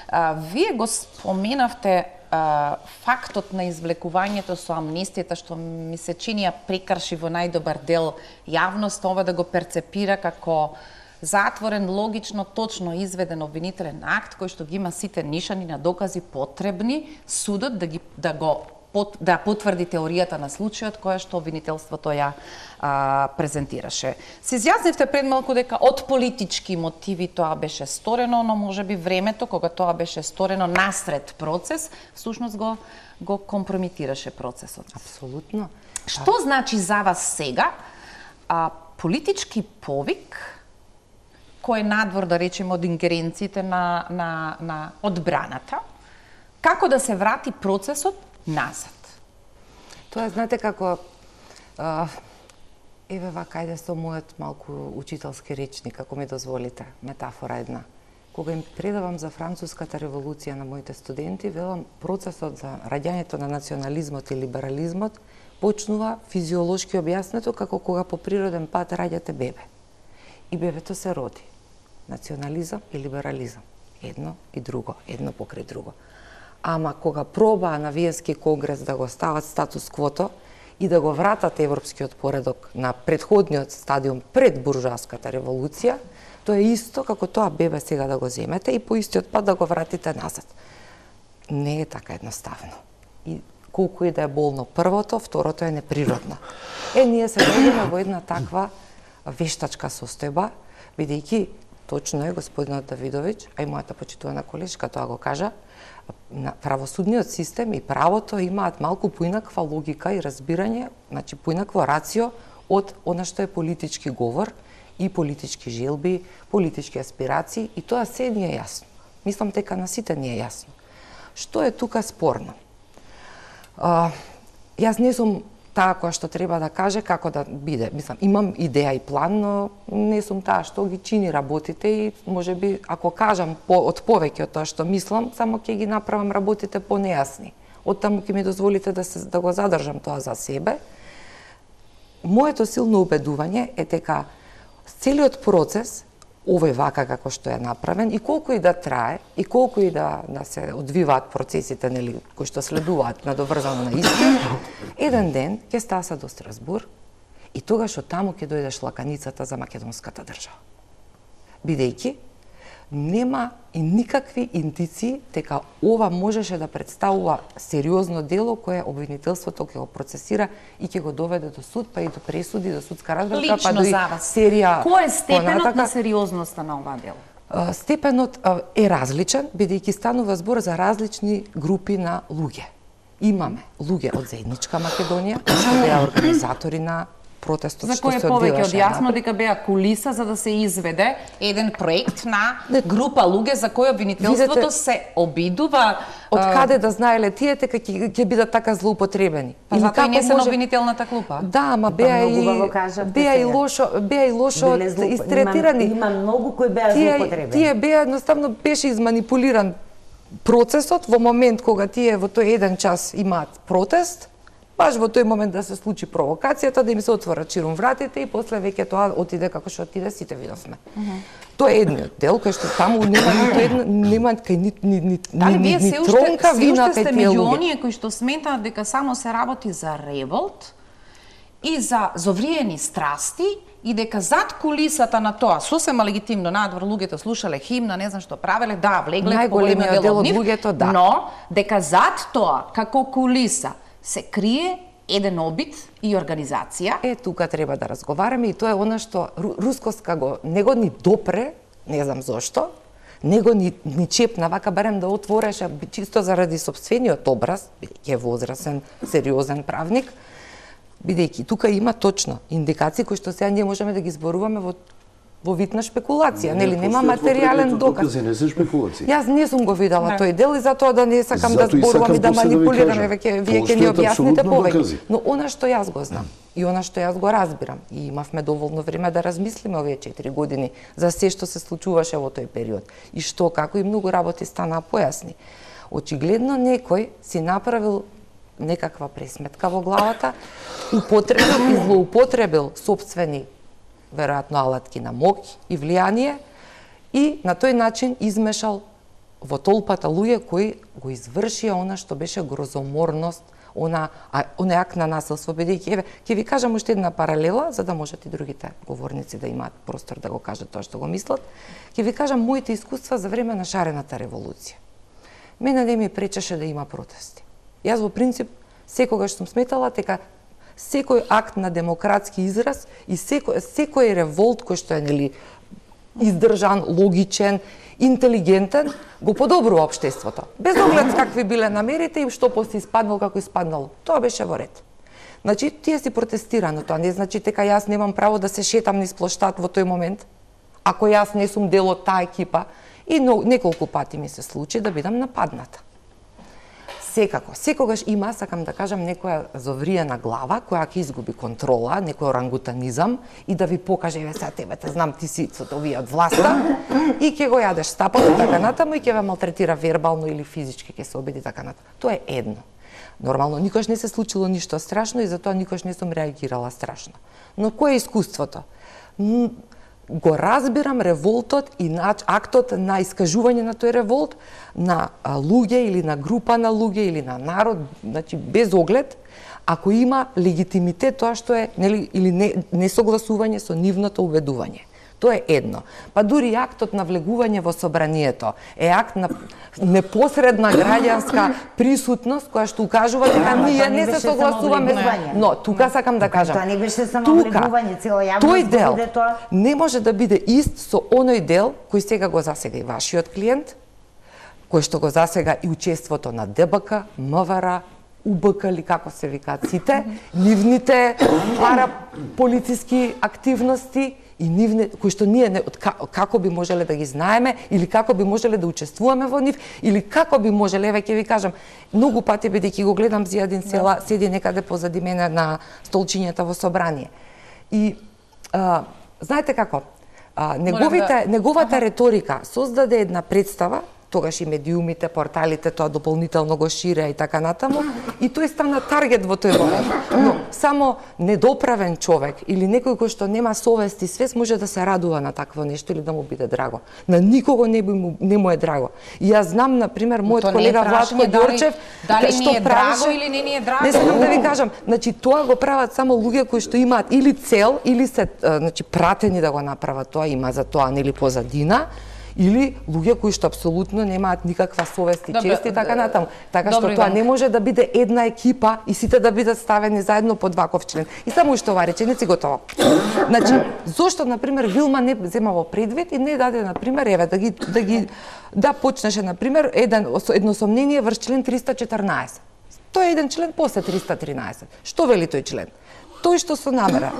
А, вие го споменавте а, фактот на извлекувањето со амнестијата, што ми се чини ја прекрши во најдобар дел јавност, ова да го перцепира како затворен, логично, точно изведен обвинителен акт кој што ги има сите нишани на докази потребни судот да ги да го да потврди теоријата на случајот која што обвинителството ја а, презентираше. Се изјаснивте пред малку дека од политички мотиви тоа беше сторено, но можеби времето кога тоа беше сторено насред процес, всушност го го компрометираше процесот. Апсолутно. Што значи за вас сега а, политички повик кој е надвор, да речеме, од ингеренциите на, на, на одбраната, како да се врати процесот назад? Тоа знаете како а, еве вака ајде со мојот малку учителски речник, ако ми дозволите, метафора една. Кога им предавам за француската револуција на моите студенти, велам процесот за раѓањето на национализмот и либерализмот почнува физиолошки објаснето како кога по природен пат раѓате бебе. И бебето се роди. Национализам и либерализам. Едно и друго, едно покрај друго. Ама кога пробаа на Виенски конгрес да го стават статус квото и да го вратат европскиот поредок на предходниот стадиум пред буржоаската револуција, тоа е исто како тоа бебе сега да го земете и по истиот пат да го вратите назад. Не е така едноставно. И колку и да е болно првото, второто е неприродно. Е, ние се дојдеме во една таква вештачка состојба, бидејќи точно е господинот Давидовиќ, а и мојата почитувана колешка тоа го кажа, на правосудниот систем и правото имаат малку поинаква логика и разбирање, значи поинакво рацио од она што е политички говор и политички желби, политички аспирации, и тоа се ни е јасно. Мислам дека на сите ни е јасно. Што е тука спорно? А, јас не сум таа која што треба да каже како да биде. Мислам, имам идеја и план, но не сум таа што ги чини работите и можеби ако кажам по, од повеќе од тоа што мислам, само ќе ги направам работите понејасни. Од таму ќе ми дозволите да се да го задржам тоа за себе. Моето силно убедување е дека целиот процес овој вака како што е направен и колку и да трае и колку и да да се одвиваат процесите нели кои што следуваат надоврзано на истина, еден ден ќе стаса до Страсбур и тогаш од таму ќе дојде шлаканицата за македонската држава. Бидејќи нема и никакви индиции дека ова можеше да представува сериозно дело кое обвинителството ќе го процесира и ќе го доведе до суд, па и до пресуди, до судска разборка, па до и серија. Кој е степенот понатака, на сериозноста на ова дело? Степенот е различен, бидејќи станува збор за различни групи на луѓе. Имаме луѓе од заедничка Македонија, што беа организатори на протестот за што кој е се повеќе од одвиваше јасно напред. дека беа кулиса за да се изведе еден проект на група луѓе за кој обвинителството Видете, се обидува. Од каде да знаеле тие дека ќе ќе бидат така злоупотребени? Па Или затоа и не како се на може- обвинителната клупа. Да, ама беа многу убаво и кажавте беа и сега. лошо, беа и лошо Биле злоупо- истретирани. Има, има многу кои беа Тие злоупотребени. тие беа едноставно беше изманипулиран процесот во момент кога тие во тој еден час имаат протест, баш во тој момент да се случи провокацијата, да им се отворат ширум вратите и после веќе тоа отиде како што отиде, сите видовме. Uh -huh. Тоа е едниот дел кој што таму нема ниту една, нема кај ни ни ни Дали ни, вие ни се уште, тронка се вина уште кај сте тие меѓу луѓе. оние кои што сметаат дека само се работи за револт и за зовриени страсти и дека зад кулисата на тоа, сосема легитимно, надвор луѓето слушале химна, не знам што правеле, да, влегле по Најголемиот големиот дел дел од од нив, луѓето, да. но дека зад тоа, како кулиса, се крие еден обид и организација. Е, тука треба да разговараме и тоа е она што Ру- Рускоска го него ни допре, не знам зошто, него ни, ни чепна, вака барем да отвореше, чисто заради собствениот образ, бидејќи е возрасен, сериозен правник, бидејќи тука има точно индикации кои што сега ние можеме да ги зборуваме во во вид на шпекулација, нели нема постојат материјален во доказ. докази, не се шпекулации. Јас не сум го видела тој дел и затоа да не сакам да Зато и зборувам и да сакам после да ви манипулирам, кажам. веќе вие ќе ни Постојат објасните апсолутно повеќе. докази. Но она што јас го знам и она што јас го разбирам и имавме доволно време да размислиме овие четири години за се што се случуваше во тој период и што, како и многу работи станаа појасни. Очигледно некој си направил некаква пресметка во главата, употребил и злоупотребил сопствени веројатно алатки на моќ и влијание и на тој начин измешал во толпата луѓе кои го извршија она што беше грозоморност, она а, она ак на насилство, бидејќи еве ќе ви кажам уште една паралела за да можат и другите говорници да имаат простор да го кажат тоа што го мислат. Ќе ви кажам моите искуства за време на шарената револуција. Мене не ми пречеше да има протести. Јас во принцип секогаш сум сметала дека секој акт на демократски израз и секој секој револт кој што е нели издржан, логичен, интелигентен, го подобрува општеството. Без оглед какви биле намерите и што после испаднало како испаднало. Тоа беше во ред. Значи, тие си протестира, но тоа не значи дека јас немам право да се шетам низ плоштад во тој момент, ако јас не сум дел од таа екипа. И неколку пати ми се случи да бидам нападната. Секако, секогаш има, сакам да кажам, некоја зовриена глава која ќе изгуби контрола, некој орангутанизам и да ви покаже, еве сега тебе те знам, ти си со овие од власта и ќе го јадеш стапот и така натаму и ќе ве малтретира вербално или физички, ќе се обиди така натаму. Тоа е едно. Нормално, никош не се случило ништо страшно и затоа никош не сум реагирала страшно. Но кое е искуството? Го разбирам револтот и актот на искажување на тој револт на луѓе или на група на луѓе или на народ, значи без оглед, ако има легитимитет тоа што е, нели, или не, несогласување со нивното убедување. Тоа е едно. Па дури актот на влегување во собранието е акт на непосредна граѓанска присутност која што укажува дека ние не се согласуваме. Но тука сакам да кажам, тоа не беше само влегување, цела јавност тој дел биде тоа. не може да биде ист со оној дел кој сега го засега и вашиот клиент, кој што го засега и учеството на Д Б К, М В Р, У Б К или како се викаат сите, нивните параполициски активности и нивне кои што ние не, како би можеле да ги знаеме или како би можеле да учествуваме во нив или како би можеле, еве ќе ви кажам, многу пати бидејќи го гледам Зијадин Села, седи некаде позади мене на столчињата во собрание. И а, знаете како? А, неговите неговата реторика создаде една представа, тогаш и медиумите, порталите тоа дополнително го ширеа и така натаму, и тој стана таргет во тој момент. Но само недоправен човек или некој кој што нема совест и свест може да се радува на такво нешто или да му биде драго. На никого не би му, не му е драго. И јас знам, на пример, мојот колега Владко Ѓорчев, дали што ни е драго или не ни е драго. Не сакам да ви кажам, значи тоа го прават само луѓе кои што имаат или цел или се значи пратени да го направат тоа, има за тоа нели позадина, или луѓе кои што апсолутно немаат никаква совест и чест и така натаму. Така што тоа не може да биде една екипа и сите да бидат ставени заедно под ваков член. И само уште ова реченица и готово. Значи, зошто на пример Вилма не зема во предвид и не даде на пример еве да ги да ги да почнеше на пример еден едно сомнение врз член триста четрнаесет. Тоа е еден член после триста тринаесет. Што вели тој член? Тој што со намера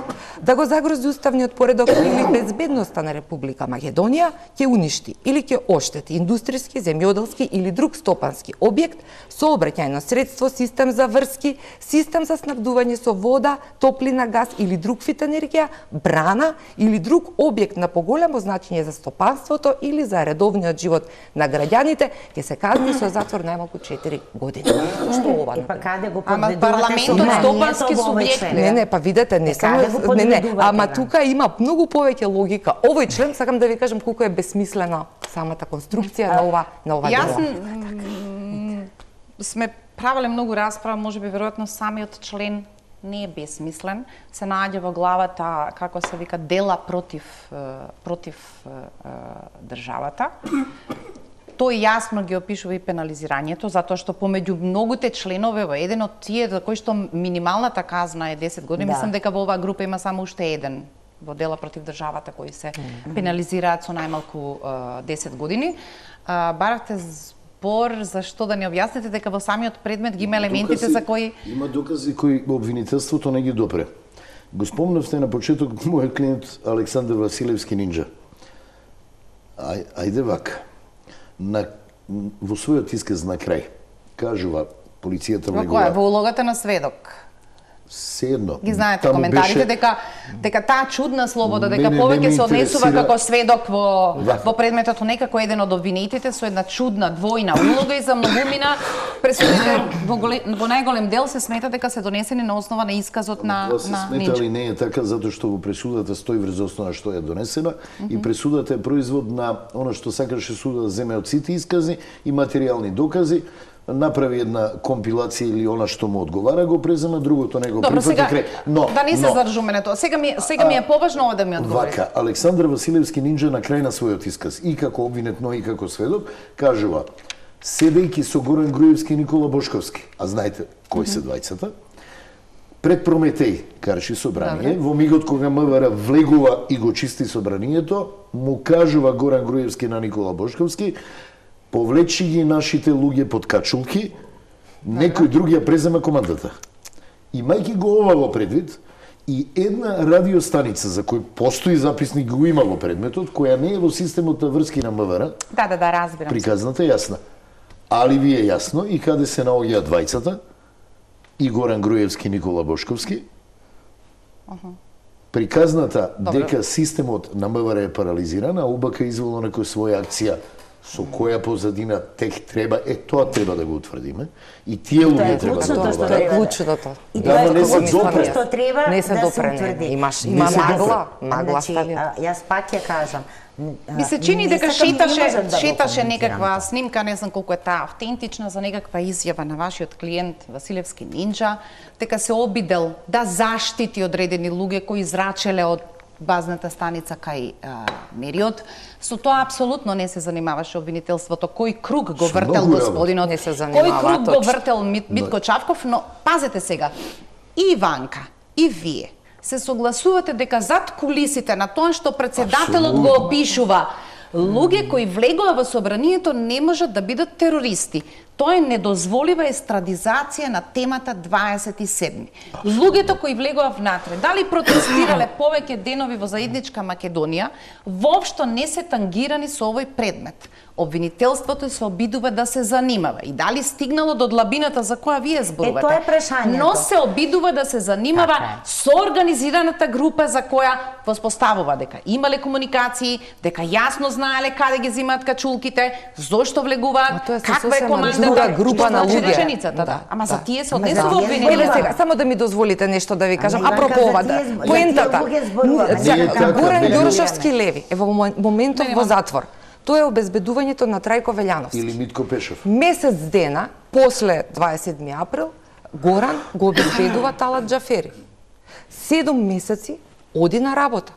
да го загрози уставниот поредок или безбедноста на Република Македонија ќе уништи или ќе оштети индустријски, земјоделски или друг стопански објект, сообраќајно средство, систем за врски, систем за снабдување со вода, топлина, газ или друг вид енергија, брана или друг објект на поголемо значење за стопанството или за редовниот живот на граѓаните, ќе се казни со затвор најмалку четири години. Што ова? Па каде го Ама подведувате парламентот стопански субјект. Не, не, па видете, не само не, не, ама тука има многу повеќе логика. Овој член сакам да ви кажам колку е бесмислена самата конструкција на ова на ова Јас дело. Сме правеле многу расправа, можеби веројатно самиот член не е бесмислен, се наоѓа во главата, како се вика, дела против против државата. Тој јасно ги опишува и пенализирањето, затоа што помеѓу многуте членове во еден од тие за кои што минималната казна е десет години, да. Мислам дека во оваа група има само уште еден во дела против државата кои се mm-hmm. пенализираат со најмалку десет години. А, барахте збор за што да ни објасните дека во самиот предмет ги има елементите докази, за кои има докази кои обвинителството не ги допре. Го спомнавте на почеток мојот клиент Александар Василевски Нинџа. Ај, ајде вака. На, во својот исказ на крај, кажува полицијата Во влегува... која? Во улогата на сведок. Седно. Ги знаете коментарите дека дека таа чудна слобода, дека повеќе се однесува како сведок во во предметот некако еден од обвинетите со една чудна двојна улога и за многумина пресудите во, во најголем дел се смета дека се донесени на основа на исказот на Тоа се на смета, али Нинџа. не е така затоа што во пресудата стои врз основа што е донесена mm -hmm. и пресудата е производ на она што сакаше судот да земе од сите искази и материјални докази, направи една компилација или она што му одговара, го презема, другото не го Добро, прифати сега, крај. Но, да не се но, задржуваме на тоа. Сега ми, сега ми е поважно ова да ми одговорите. Вака, Александар Василевски Нинџа на крај на својот исказ, и како обвинет, но и како сведок, кажува, седејќи со Горан Груевски и Никола Бошковски, а знаете кои се двајцата, пред Прометеј карши собрание, во мигот кога МВР влегува и го чисти собранието, му кажува Горан Груевски на Никола Бошковски, повлечи ги нашите луѓе под качулки, некој друг ја презема командата. Имајќи го ова во предвид, и една радиостаница за кој постои записник го има во предметот, која не е во системот на врски на МВР, Да, да, да, разбирам. приказната е јасна. Али ви е јасно и каде се наоѓаат двајцата, и Горан Груевски и Никола Бошковски, приказната дека системот на МВР е парализиран, а УБК изволно некоја своја акција со која позадина тек треба, е тоа треба да го утврдиме. И тие луѓе треба да Тоа го е отврдат. клучното. И Да, тоа ама е не се клучното допре. што треба Не се да се допре, не. утврди. Имаш- Не има се магла, допре. магла Значи, стави. а, јас пак ја кажам. Ми се чини Не дека сакам, не шеташе, можам да го шеташе коментирам некаква тоа. снимка, не знам колку е таа автентична, за некаква изјава на вашиот клиент Василевски Нинџа, дека се обидел да заштити одредени луѓе кои израчеле од базната станица кај а, Мериот. Со тоа апсолутно не се занимаваше обвинителството. Кој круг го Со вртел многу господинот, Не се кој занимава, круг го точно. вртел Мит, Митко Чавков, но пазете сега, и Иванка, и вие се согласувате дека зад кулисите на тоа што председателот го Апсолутно. опишува, луѓе кои влегува во собранието не можат да бидат терористи. Тоа е недозволива естрадизација на темата дваесет и седми. Луѓето кои влегува внатре, дали протестирале повеќе денови во заедничка Македонија, воопшто не се тангирани со овој предмет. Обвинителството се обидува да се занимава и дали стигнало до длабината за која вие зборувате. Е, тоа е прашањето. Но се обидува да се занимава Така е. со организираната група за која воспоставува дека имале комуникации, дека јасно знаеле каде ги земаат качулките, зошто влегуваат, Ма тоа е каква е сосема командата, друга што група на значи луѓе. реченицата, да. Да, Ама за да. тие се Ама за однесува тие обвинение. Еве зборува. сега, само да ми дозволите нешто да ви кажам. Иванка, Апропо за ова, тие да, зб- за поентата. тие луѓе зборуваме. Сега, Не е така, Горан не е. Ѓоршовски леви е во момен- моментот Не, во нема. затвор. Тоа е обезбедувањето на Трајко Велјановски. Или Митко Пешев. Месец дена после дваесет и седми април Горан го обезбедува Талат Џафери. Седум месеци оди на работа.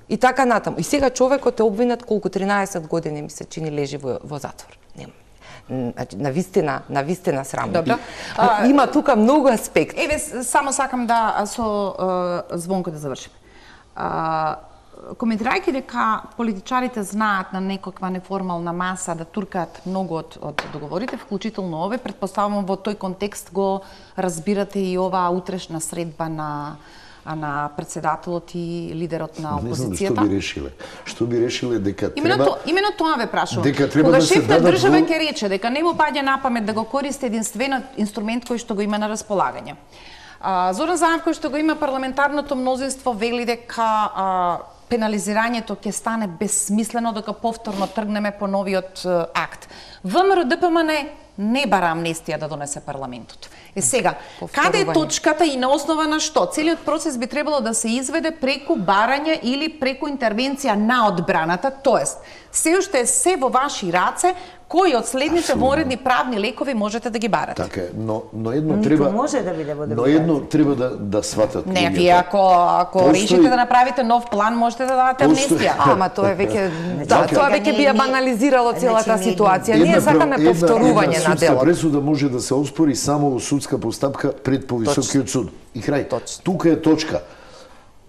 И така натаму. И сега човекот е обвинет колку тринаесет години ми се чини лежи во, во затвор. Нема. Значи, на вистина, на вистина срамно. Добро. А, има тука многу аспекти. Еве, с- само сакам да а, со а, Звонко да завршиме. А, коментирајќи дека политичарите знаат на некаква неформална маса да туркаат многу од, од договорите, вклучително ове, предпоставувам во тој контекст го разбирате и оваа утрешна средба на а на председателот и лидерот на Не знам што опозицијата. би решиле. Што би решиле дека Именно, треба... то, именно тоа ве прашувам. дека треба Кога да се шеф на дадат држава во- ќе рече дека не му паѓа на памет да го користи единствен инструмент кој што го има на располагање. А, Зоран Заев, кој што го има парламентарното мнозинство, вели дека а, пенализирањето ќе стане безсмислено дека повторно тргнеме по новиот а, акт. ВМРО Д P M N не бара амнестија да донесе парламентот. Е сега, каде е Повторување. точката и на основа на што? Целиот процес би требало да се изведе преку барање или преку интервенција на одбраната, тоест се уште е се во ваши раце, кои од следните воредни правни лекови можете да ги барате. Така е, но, но едно Ниту треба... може да биде во Но едно треба да, да сватат Не, луѓето. вие ако, ако Постои- решите да направите нов план, можете да дадете Постои- амнестија. Ама тоа е веќе да, Значи, тоа сега веќе ние- би ја ние- банализирало целата значи, ние- ситуација. Ние прав- сакаме една- повторување една на судска делот. пресуда може да се оспори само во судска постапка пред повисокиот суд. И крај. Точно. Тука е точка.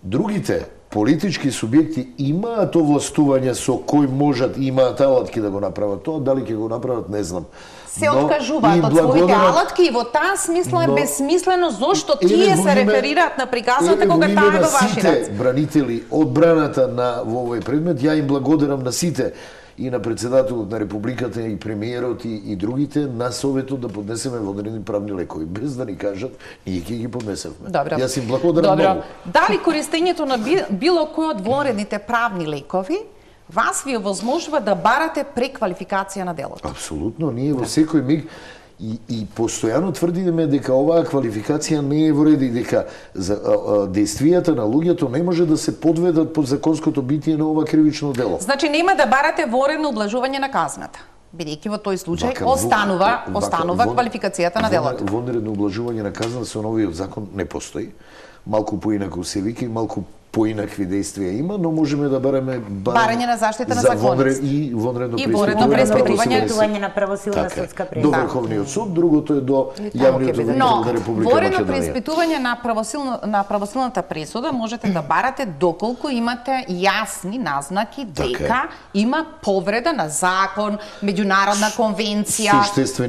Другите политички субјекти имаат овластување со кој можат и имаат алатки да го направат тоа, дали ќе го направат не знам. Се откажуваат од своите алатки и во таа смисла е но, безсмислено зошто тие се реферираат на приказната кога таа е во ваши раце. Сите бранители одбраната на во овој предмет, ја им благодарам на сите, и на председателот на Републиката и премиерот и, и другите на советот да поднесеме водени правни лекови. Без да ни кажат, ние ќе ги поднесевме. Добро. Јас им благодарам Добро. многу. Дали користењето на било кој од вонредните правни лекови вас ви овозможува да барате преквалификација на делото? Апсолутно, ние во секој миг и, и постојано тврдиме дека оваа квалификација не е во ред и дека за, а, а, действијата на луѓето не може да се подведат под законското битие на ова кривично дело. Значи нема да барате воредно облажување на казната, бидејќи во тој случај Вака, останува вака, останува вон, квалификацијата на делото. Вонредно облажување на казна со новиот закон не постои. Малку поинаку се вика и малку поинакви действија има, но можеме да бараме барање на заштита на за законност и вонредно и вонредно преиспитување на правосилна судска пресуда. До Врховниот суд, другото е до јавниот обвинител на Република Македонија. Воредно преиспитување на правосилна на правосилната пресуда можете да барате доколку имате јасни назнаки дека има повреда на закон, меѓународна конвенција.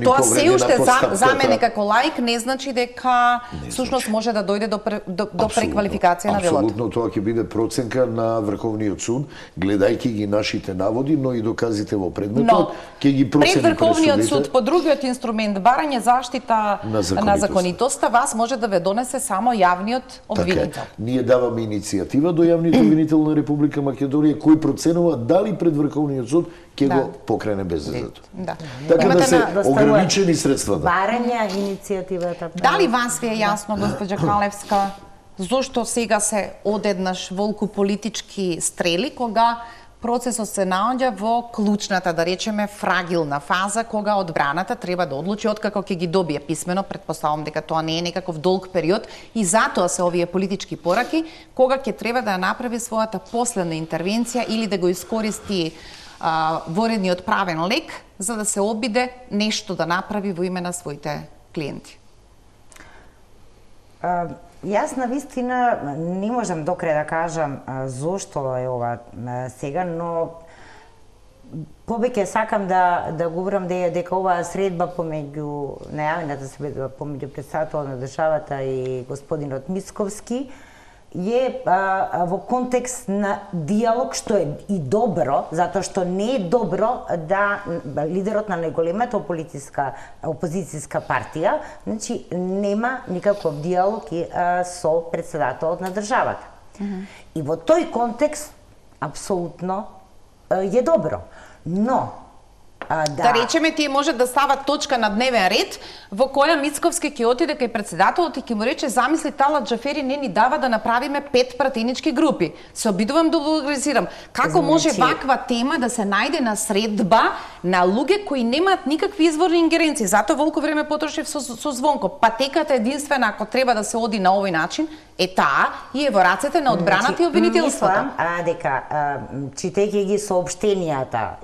Тоа се уште за, за мене како лаик не значи дека всушност може да дојде до до, до преквалификација на делото. Апсолутно, тоа ќе биде проценка на Врховниот суд, гледајќи ги нашите наводи, но и доказите во предметот, ќе ги процени пред Врховниот пресудите. суд по другиот инструмент барање заштита на законитост. на законитоста, вас може да ве донесе само јавниот обвинител. Така, ние даваме иницијатива до јавниот обвинител на Република Македонија кој проценува дали пред Врховниот суд ќе Да. го покрене бездето. Да. Така Имате да се на- ограничени средствата. Барање иницијативата. Дали вас ви е јасно, госпоѓа Калевска, зошто сега се одеднаш волку политички стрели кога процесот се наоѓа во клучната, да речеме, фрагилна фаза кога одбраната треба да одлучи откако ќе ги добие писмено, предпоставам дека тоа не е некаков долг период и затоа се овие политички пораки кога ќе треба да ја направи својата последна интервенција или да го искористи а, воредниот правен лек за да се обиде нешто да направи во име на своите клиенти. А, Јас на вистина не можам до крај да кажам а, зошто е ова а, сега, но повеќе сакам да да говорам дека, дека оваа средба помеѓу најавената средба помеѓу претседателот на државата и господинот Мицковски е а, во контекст на диалог, што е и добро, затоа што не е добро да лидерот на најголемата политичка опозицијска партија, значи нема никаков диалог и, а, со претседателот на државата. Mm-hmm. И во тој контекст апсолутно а, е добро. Но А, да. да речеме, тие може да стават точка на дневен ред во која Мицковски ќе отиде кај претседателот и ќе му рече: замисли, Талат Џафери не ни дава да направиме пет пратенички групи. Се обидувам да вулгаризирам. Како значи... може ваква тема да се најде на средба на луѓе кои немаат никакви изворни ингеренции? Затоа волку време потрошив со, со Звонко. Патеката единствена ако треба да се оди на овој начин е таа и е во рацете на одбраната значи, и обвинителството. Мислам, а, дека а, читајќи ги соопштенијата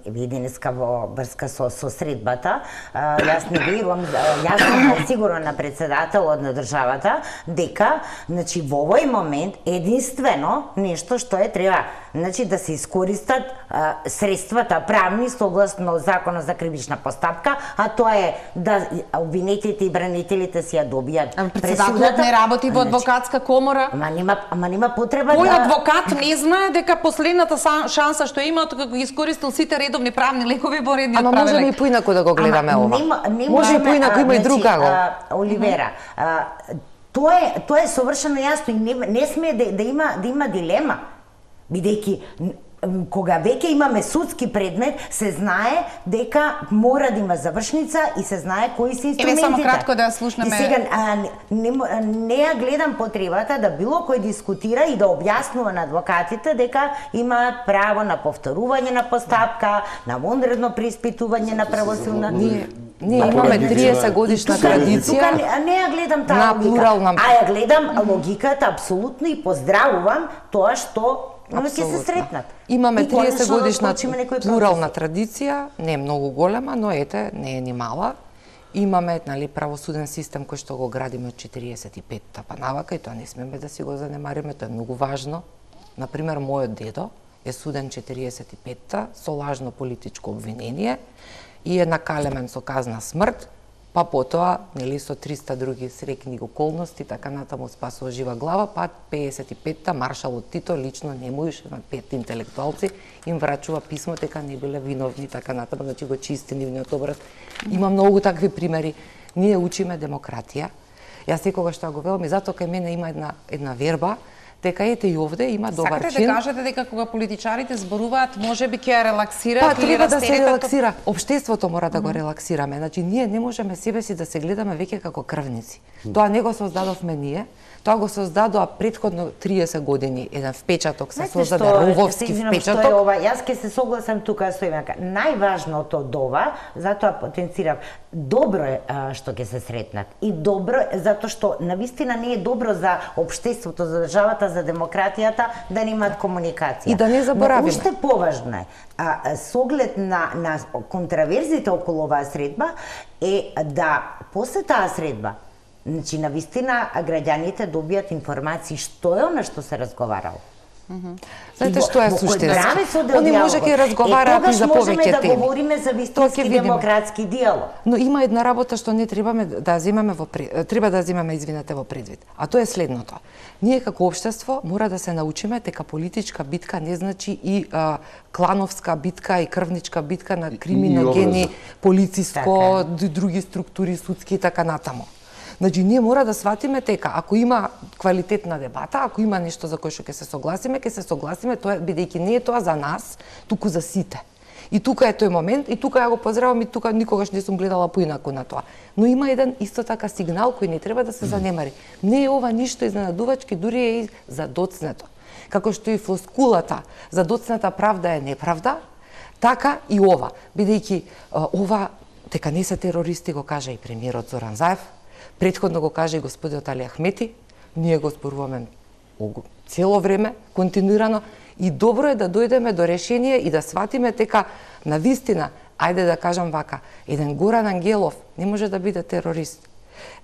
ви денеска во врска со, со средбата, а, јас не верувам, јас сум сигурна на претседателот на државата дека значи во овој момент единствено нешто што е треба значи да се искористат а, средствата правни согласно законот за кривична постапка, а тоа е да обвинетите и бранителите си ја добијат пресудата. Не работи во адвокатска комора. Ама нема, ама нема потреба Кој да... адвокат не знае дека последната шанса што има како ги искористил сите редовни правни лекови во редниот правен лек. Ама можеме и поинаку да го гледаме ама, ова. Нема, нема, Може и поинаку, има и друга го. Оливера, а, тоа е тоа е совршено јасно и не, не сме да, да има да има дилема. Бидејќи кога веќе имаме судски предмет, се знае дека мора да има завршница и се знае кои се инструментите. Еве само кратко да ја слушнеме. И сега а, не, не ја гледам потребата да било кој дискутира и да објаснува на адвокатите дека имаат право на повторување на постапка, на вонредно преиспитување на правосилна. Ние Ние имаме триесет годишна традиција. Тука не, не ја гледам таа на логика, плурална... а ја гледам логиката апсолутно и поздравувам тоа што ќе се сретнат. Имаме триесет годишна да плурална традиција, не е многу голема, но ете, не е ни мала. Имаме, нали, правосуден систем кој што го градиме од четириесет и петта па навака и тоа не смеме да си го занемариме, тоа е многу важно. Например, мојот дедо е суден четириесет и петта со лажно политичко обвинение и е накалемен со казна смрт, па потоа, нели, со триста други среќни околности, така натаму спасува жива глава, па пеесет и петта маршалот Тито лично нему и на пет интелектуалци им врачува писмо дека не биле виновни, така натаму, значи го чисти нивниот образ. Има многу такви примери. Ние учиме демократија. Јас секогаш што го велам и затоа кај мене има една една верба дека ете и овде има добар чин. Сакате да кажете дека кога политичарите зборуваат, можеби ќе ја релаксираат па, или треба да се растеретат... релаксира. Обштеството мора да го релаксираме. Значи ние не можеме себе си да се гледаме веќе како крвници. Тоа не го создадовме ние. Тоа го создадоа претходно триесет години еден впечаток, се создаде рововски впечаток. Што е ова? Јас ќе се согласам тука со Иванка. Најважното од ова, затоа потенцирам, добро е а, што ќе се сретнат. И добро е затоа што навистина не е добро за општеството, за државата, за демократијата да немаат комуникација. И да не заборавиме. Но уште поважно е, а, со оглед на, на контраверзите околу оваа средба, е да после таа средба, значи, навистина, граѓаните добијат информации што е она што се разговарало. Знаете што е суштински? Они може ќе е, разговараат и за повеќе теми. Тогаш можеме да говориме за вистински демократски диалог. Но има една работа што не требаме да земеме во пред... треба да земеме, извинете, во предвид. А тоа е следното. Ние како општество мора да се научиме дека политичка битка не значи и а, клановска битка и крвничка битка на криминогени, полициско, така, други структури, судски и така натаму. Значи, ние мора да сватиме дека ако има квалитетна дебата, ако има нешто за кое што ќе се согласиме, ќе се согласиме, тоа бидејќи не е тоа за нас, туку за сите. И тука е тој момент, и тука ја го поздравам, и тука никогаш не сум гледала поинаку на тоа. Но има еден исто така сигнал кој не треба да се занемари. Не е ова ништо изненадувачки, дури е и задоцнето. Како што и флоскулата задоцната правда е неправда, така и ова, бидејќи ова дека не се терористи го кажа и премиерот Зоран Заев, претходно го кажа и господинот Али Ахмети, ние го зборуваме цело време, континуирано, и добро е да дојдеме до решение и да сватиме дека навистина, ајде да кажам вака, еден Горан Ангелов не може да биде терорист.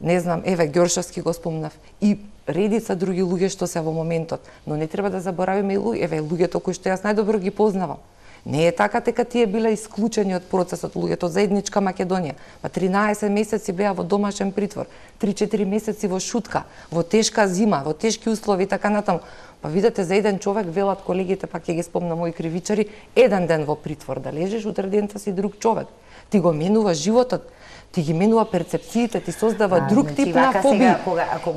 Не знам, еве Ѓоршовски го спомнав и редица други луѓе што се во моментот, но не треба да заборавиме и луѓе, еве луѓето кои што јас најдобро ги познавам. Не е така дека тие биле исклучени од процесот луѓето од заедничка Македонија. Па тринаесет месеци беа во домашен притвор, три-четири месеци во шутка, во тешка зима, во тешки услови и така натаму. Па видете, за еден човек, велат колегите, па ќе ги спомнам мои кривичари, еден ден во притвор да лежиш, утре дента си друг човек. Ти го менува животот, ти ги менува перцепциите, ти создава а, друг значи, тип на фобии.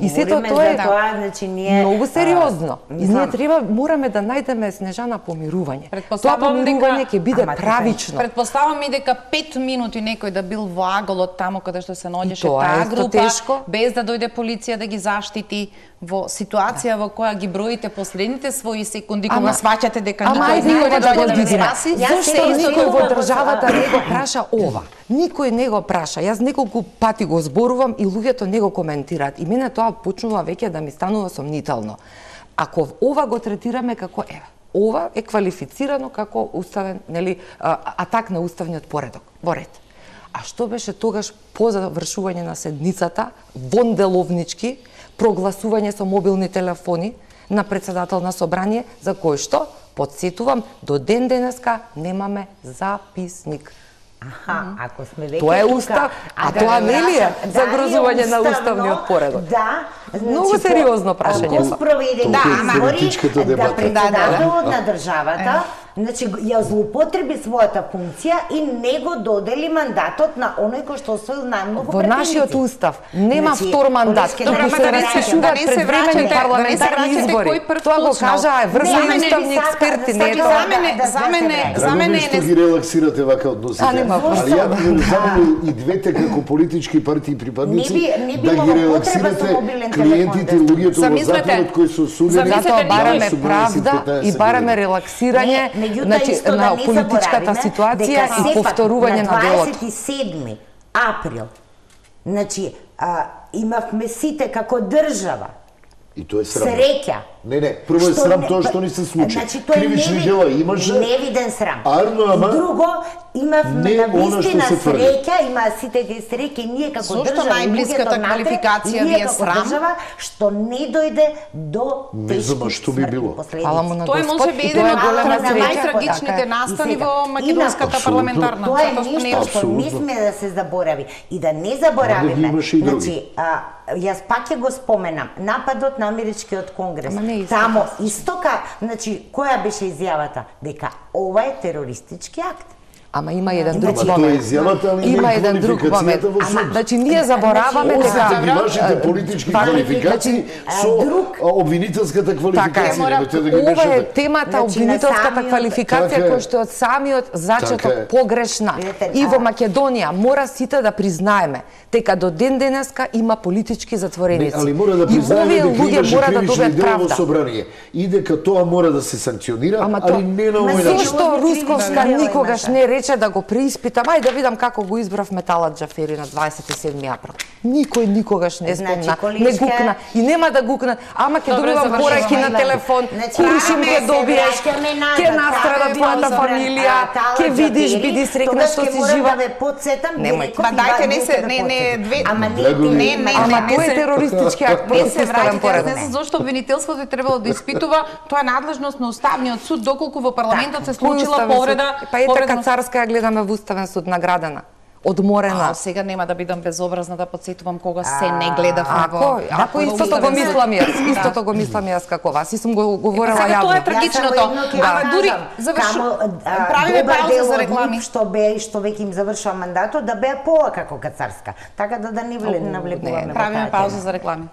И сето тоа е тоа, значи ние многу сериозно. А, и ние треба мораме да најдеме, Снежана, помирување. Тоа помирување ќе биде ама, правично. Предпоставам и дека пет минути некој да бил во аголот таму каде што се наоѓаше таа група, тешко, без да дојде полиција да ги заштити, во ситуација да. во која ги броите последните своји секунди кога сваќате дека никој никој не да дојде да ги спаси. Зошто никој во државата не го праша ова? Никој не го праша. Јас неколку пати го зборувам и луѓето не го коментираат. И мене тоа почнува веќе да ми станува сомнително. Ако ова го третираме како еве, ова е квалифицирано како уставен, нели, атак на уставниот поредок, во ред. А што беше тогаш по завршување на седницата, вонделовнички, прогласување со мобилни телефони на председател на собрание, за кој што, подсетувам, до ден денеска немаме записник. Аха, ако сме веќе тоа е устав, а, а да тоа нели е загрозување на уставниот поредок? Да, значи, многу сериозно прашање. Ако спроведе да, избори, да дебата. председателот на државата, значи ја злоупотреби својата функција и не го додели мандатот на оној кој што освоил најмногу во нашиот устав нема значи, втор мандат, туку се распишуваат превремени парламентарни избори. Тоа го кажаа врзани уставни експерти, не е тоа. За мене, за мене, за мене е ги релаксирате вака односите. Али ја би само и двете како политички партии припадници да ги релаксирате клиентите, луѓето во затворот кои се осудени. Затоа бараме правда и бараме релаксирање значи, на политичката ситуација и повторување на делото. На дваесет и седми април, значи, а, имавме сите како држава и тоа е среќа Не, не, прво е Што срам не- тоа што не се случи. Значи, тоа е Кривични неви- дела имаше. невиден срам. Арно, ама Друго, имавме не на она што вистина се тврди. среќа, има сите ги среќи, ние како Зошто држава, најблиската луѓето натре, квалификација ви ние е како срам? држава, што не дојде до Не тешки знам, а што би смртни било? последици. Фала му на Тоа е Господ, може би и еден тоа е од голема на среќа. најтрагичните Така е. настани И сега, во македонската инаку, парламентарна, Тоа е затоа што не е нешто што Апсолутно. не сме да се заборави и да не Овде заборавиме. ги имаше и други. Значи, а, јас пак ќе го споменам, нападот на америчкиот конгрес. Ама не е исто Тамо така. истока, значи која беше изјавата дека ова е терористички акт. Ама има еден друг Ама тоа е момент. изјавата, али не Има е еден друг момент. квалификацијата во Ама, суд. значи ние забораваме Значи, дека Остите ги вашите политички Факт, квалификации значи, со друг- а, обвинителската Така квалификација. е. Немојте да ги Ова е мешате. темата Значи, обвинителската на самиот- квалификација Така е. која што е од самиот Така зачеток е. погрешна. Видете, И во а- Македонија мора сите да признаеме дека до ден денеска има политички Не, затвореници. али мора да И признаеме овие дека луѓе имаше мора да кривични добијат дела во правда. собрание. И дека тоа мора да се санкционира, Ама али тоа- не на Ма овој зошто? начин. Зошто Овие Русковска кривични дела никогаш имаше. не рече да го преиспитам, ајде да видам како го избрав Металат Џафери на дваесет и седми април. Никој никогаш не Значи, спомна, Количка- не гукна и нема да гукна. Ама ќе Добре, добивам завршуваме. пораки на телефон, Значи, куршим аме ќе се добиеш, враќаме назад, ќе настрада аме твојата во фамилија, а, Талат ќе видиш, Џафери, биди срекна тогаш што ќе си морам жива. да ве подсетам, ги Немој. реков Ма и дајте, ва- не вие се- ќе да не- не, подсетам. две- Ама не Драго ти ми. Не, не, Ама не тоа е се- терористички акт Не против се уставен враќате, јас поред. не знам зошто обвинителството е требало да испитува, тоа е надлежност на Уставниот суд, доколку во парламентот се Кој случила уставен суд? повреда. Па ете повреда- Кацарска ја гледаме во Уставен суд наградена. Одморена. А, сега нема да бидам безобразна да подсетувам кога се не гледавме Ако, во... ако во истото го Уставен суд. мислам јас, Да. истото го мислам јас како вас, и сум го Па говорела сега тоа е јавно. трагичното. Јас само едно ќе Ама кажам, дури завршу. камо, а, Правиме добар пауза дел за од реклами. нив што беа и што веќе им завршува мандатот, да беа поа како Кацарска. Така да да не вле- навлегуваме во Правиме таа пауза тема. за реклами.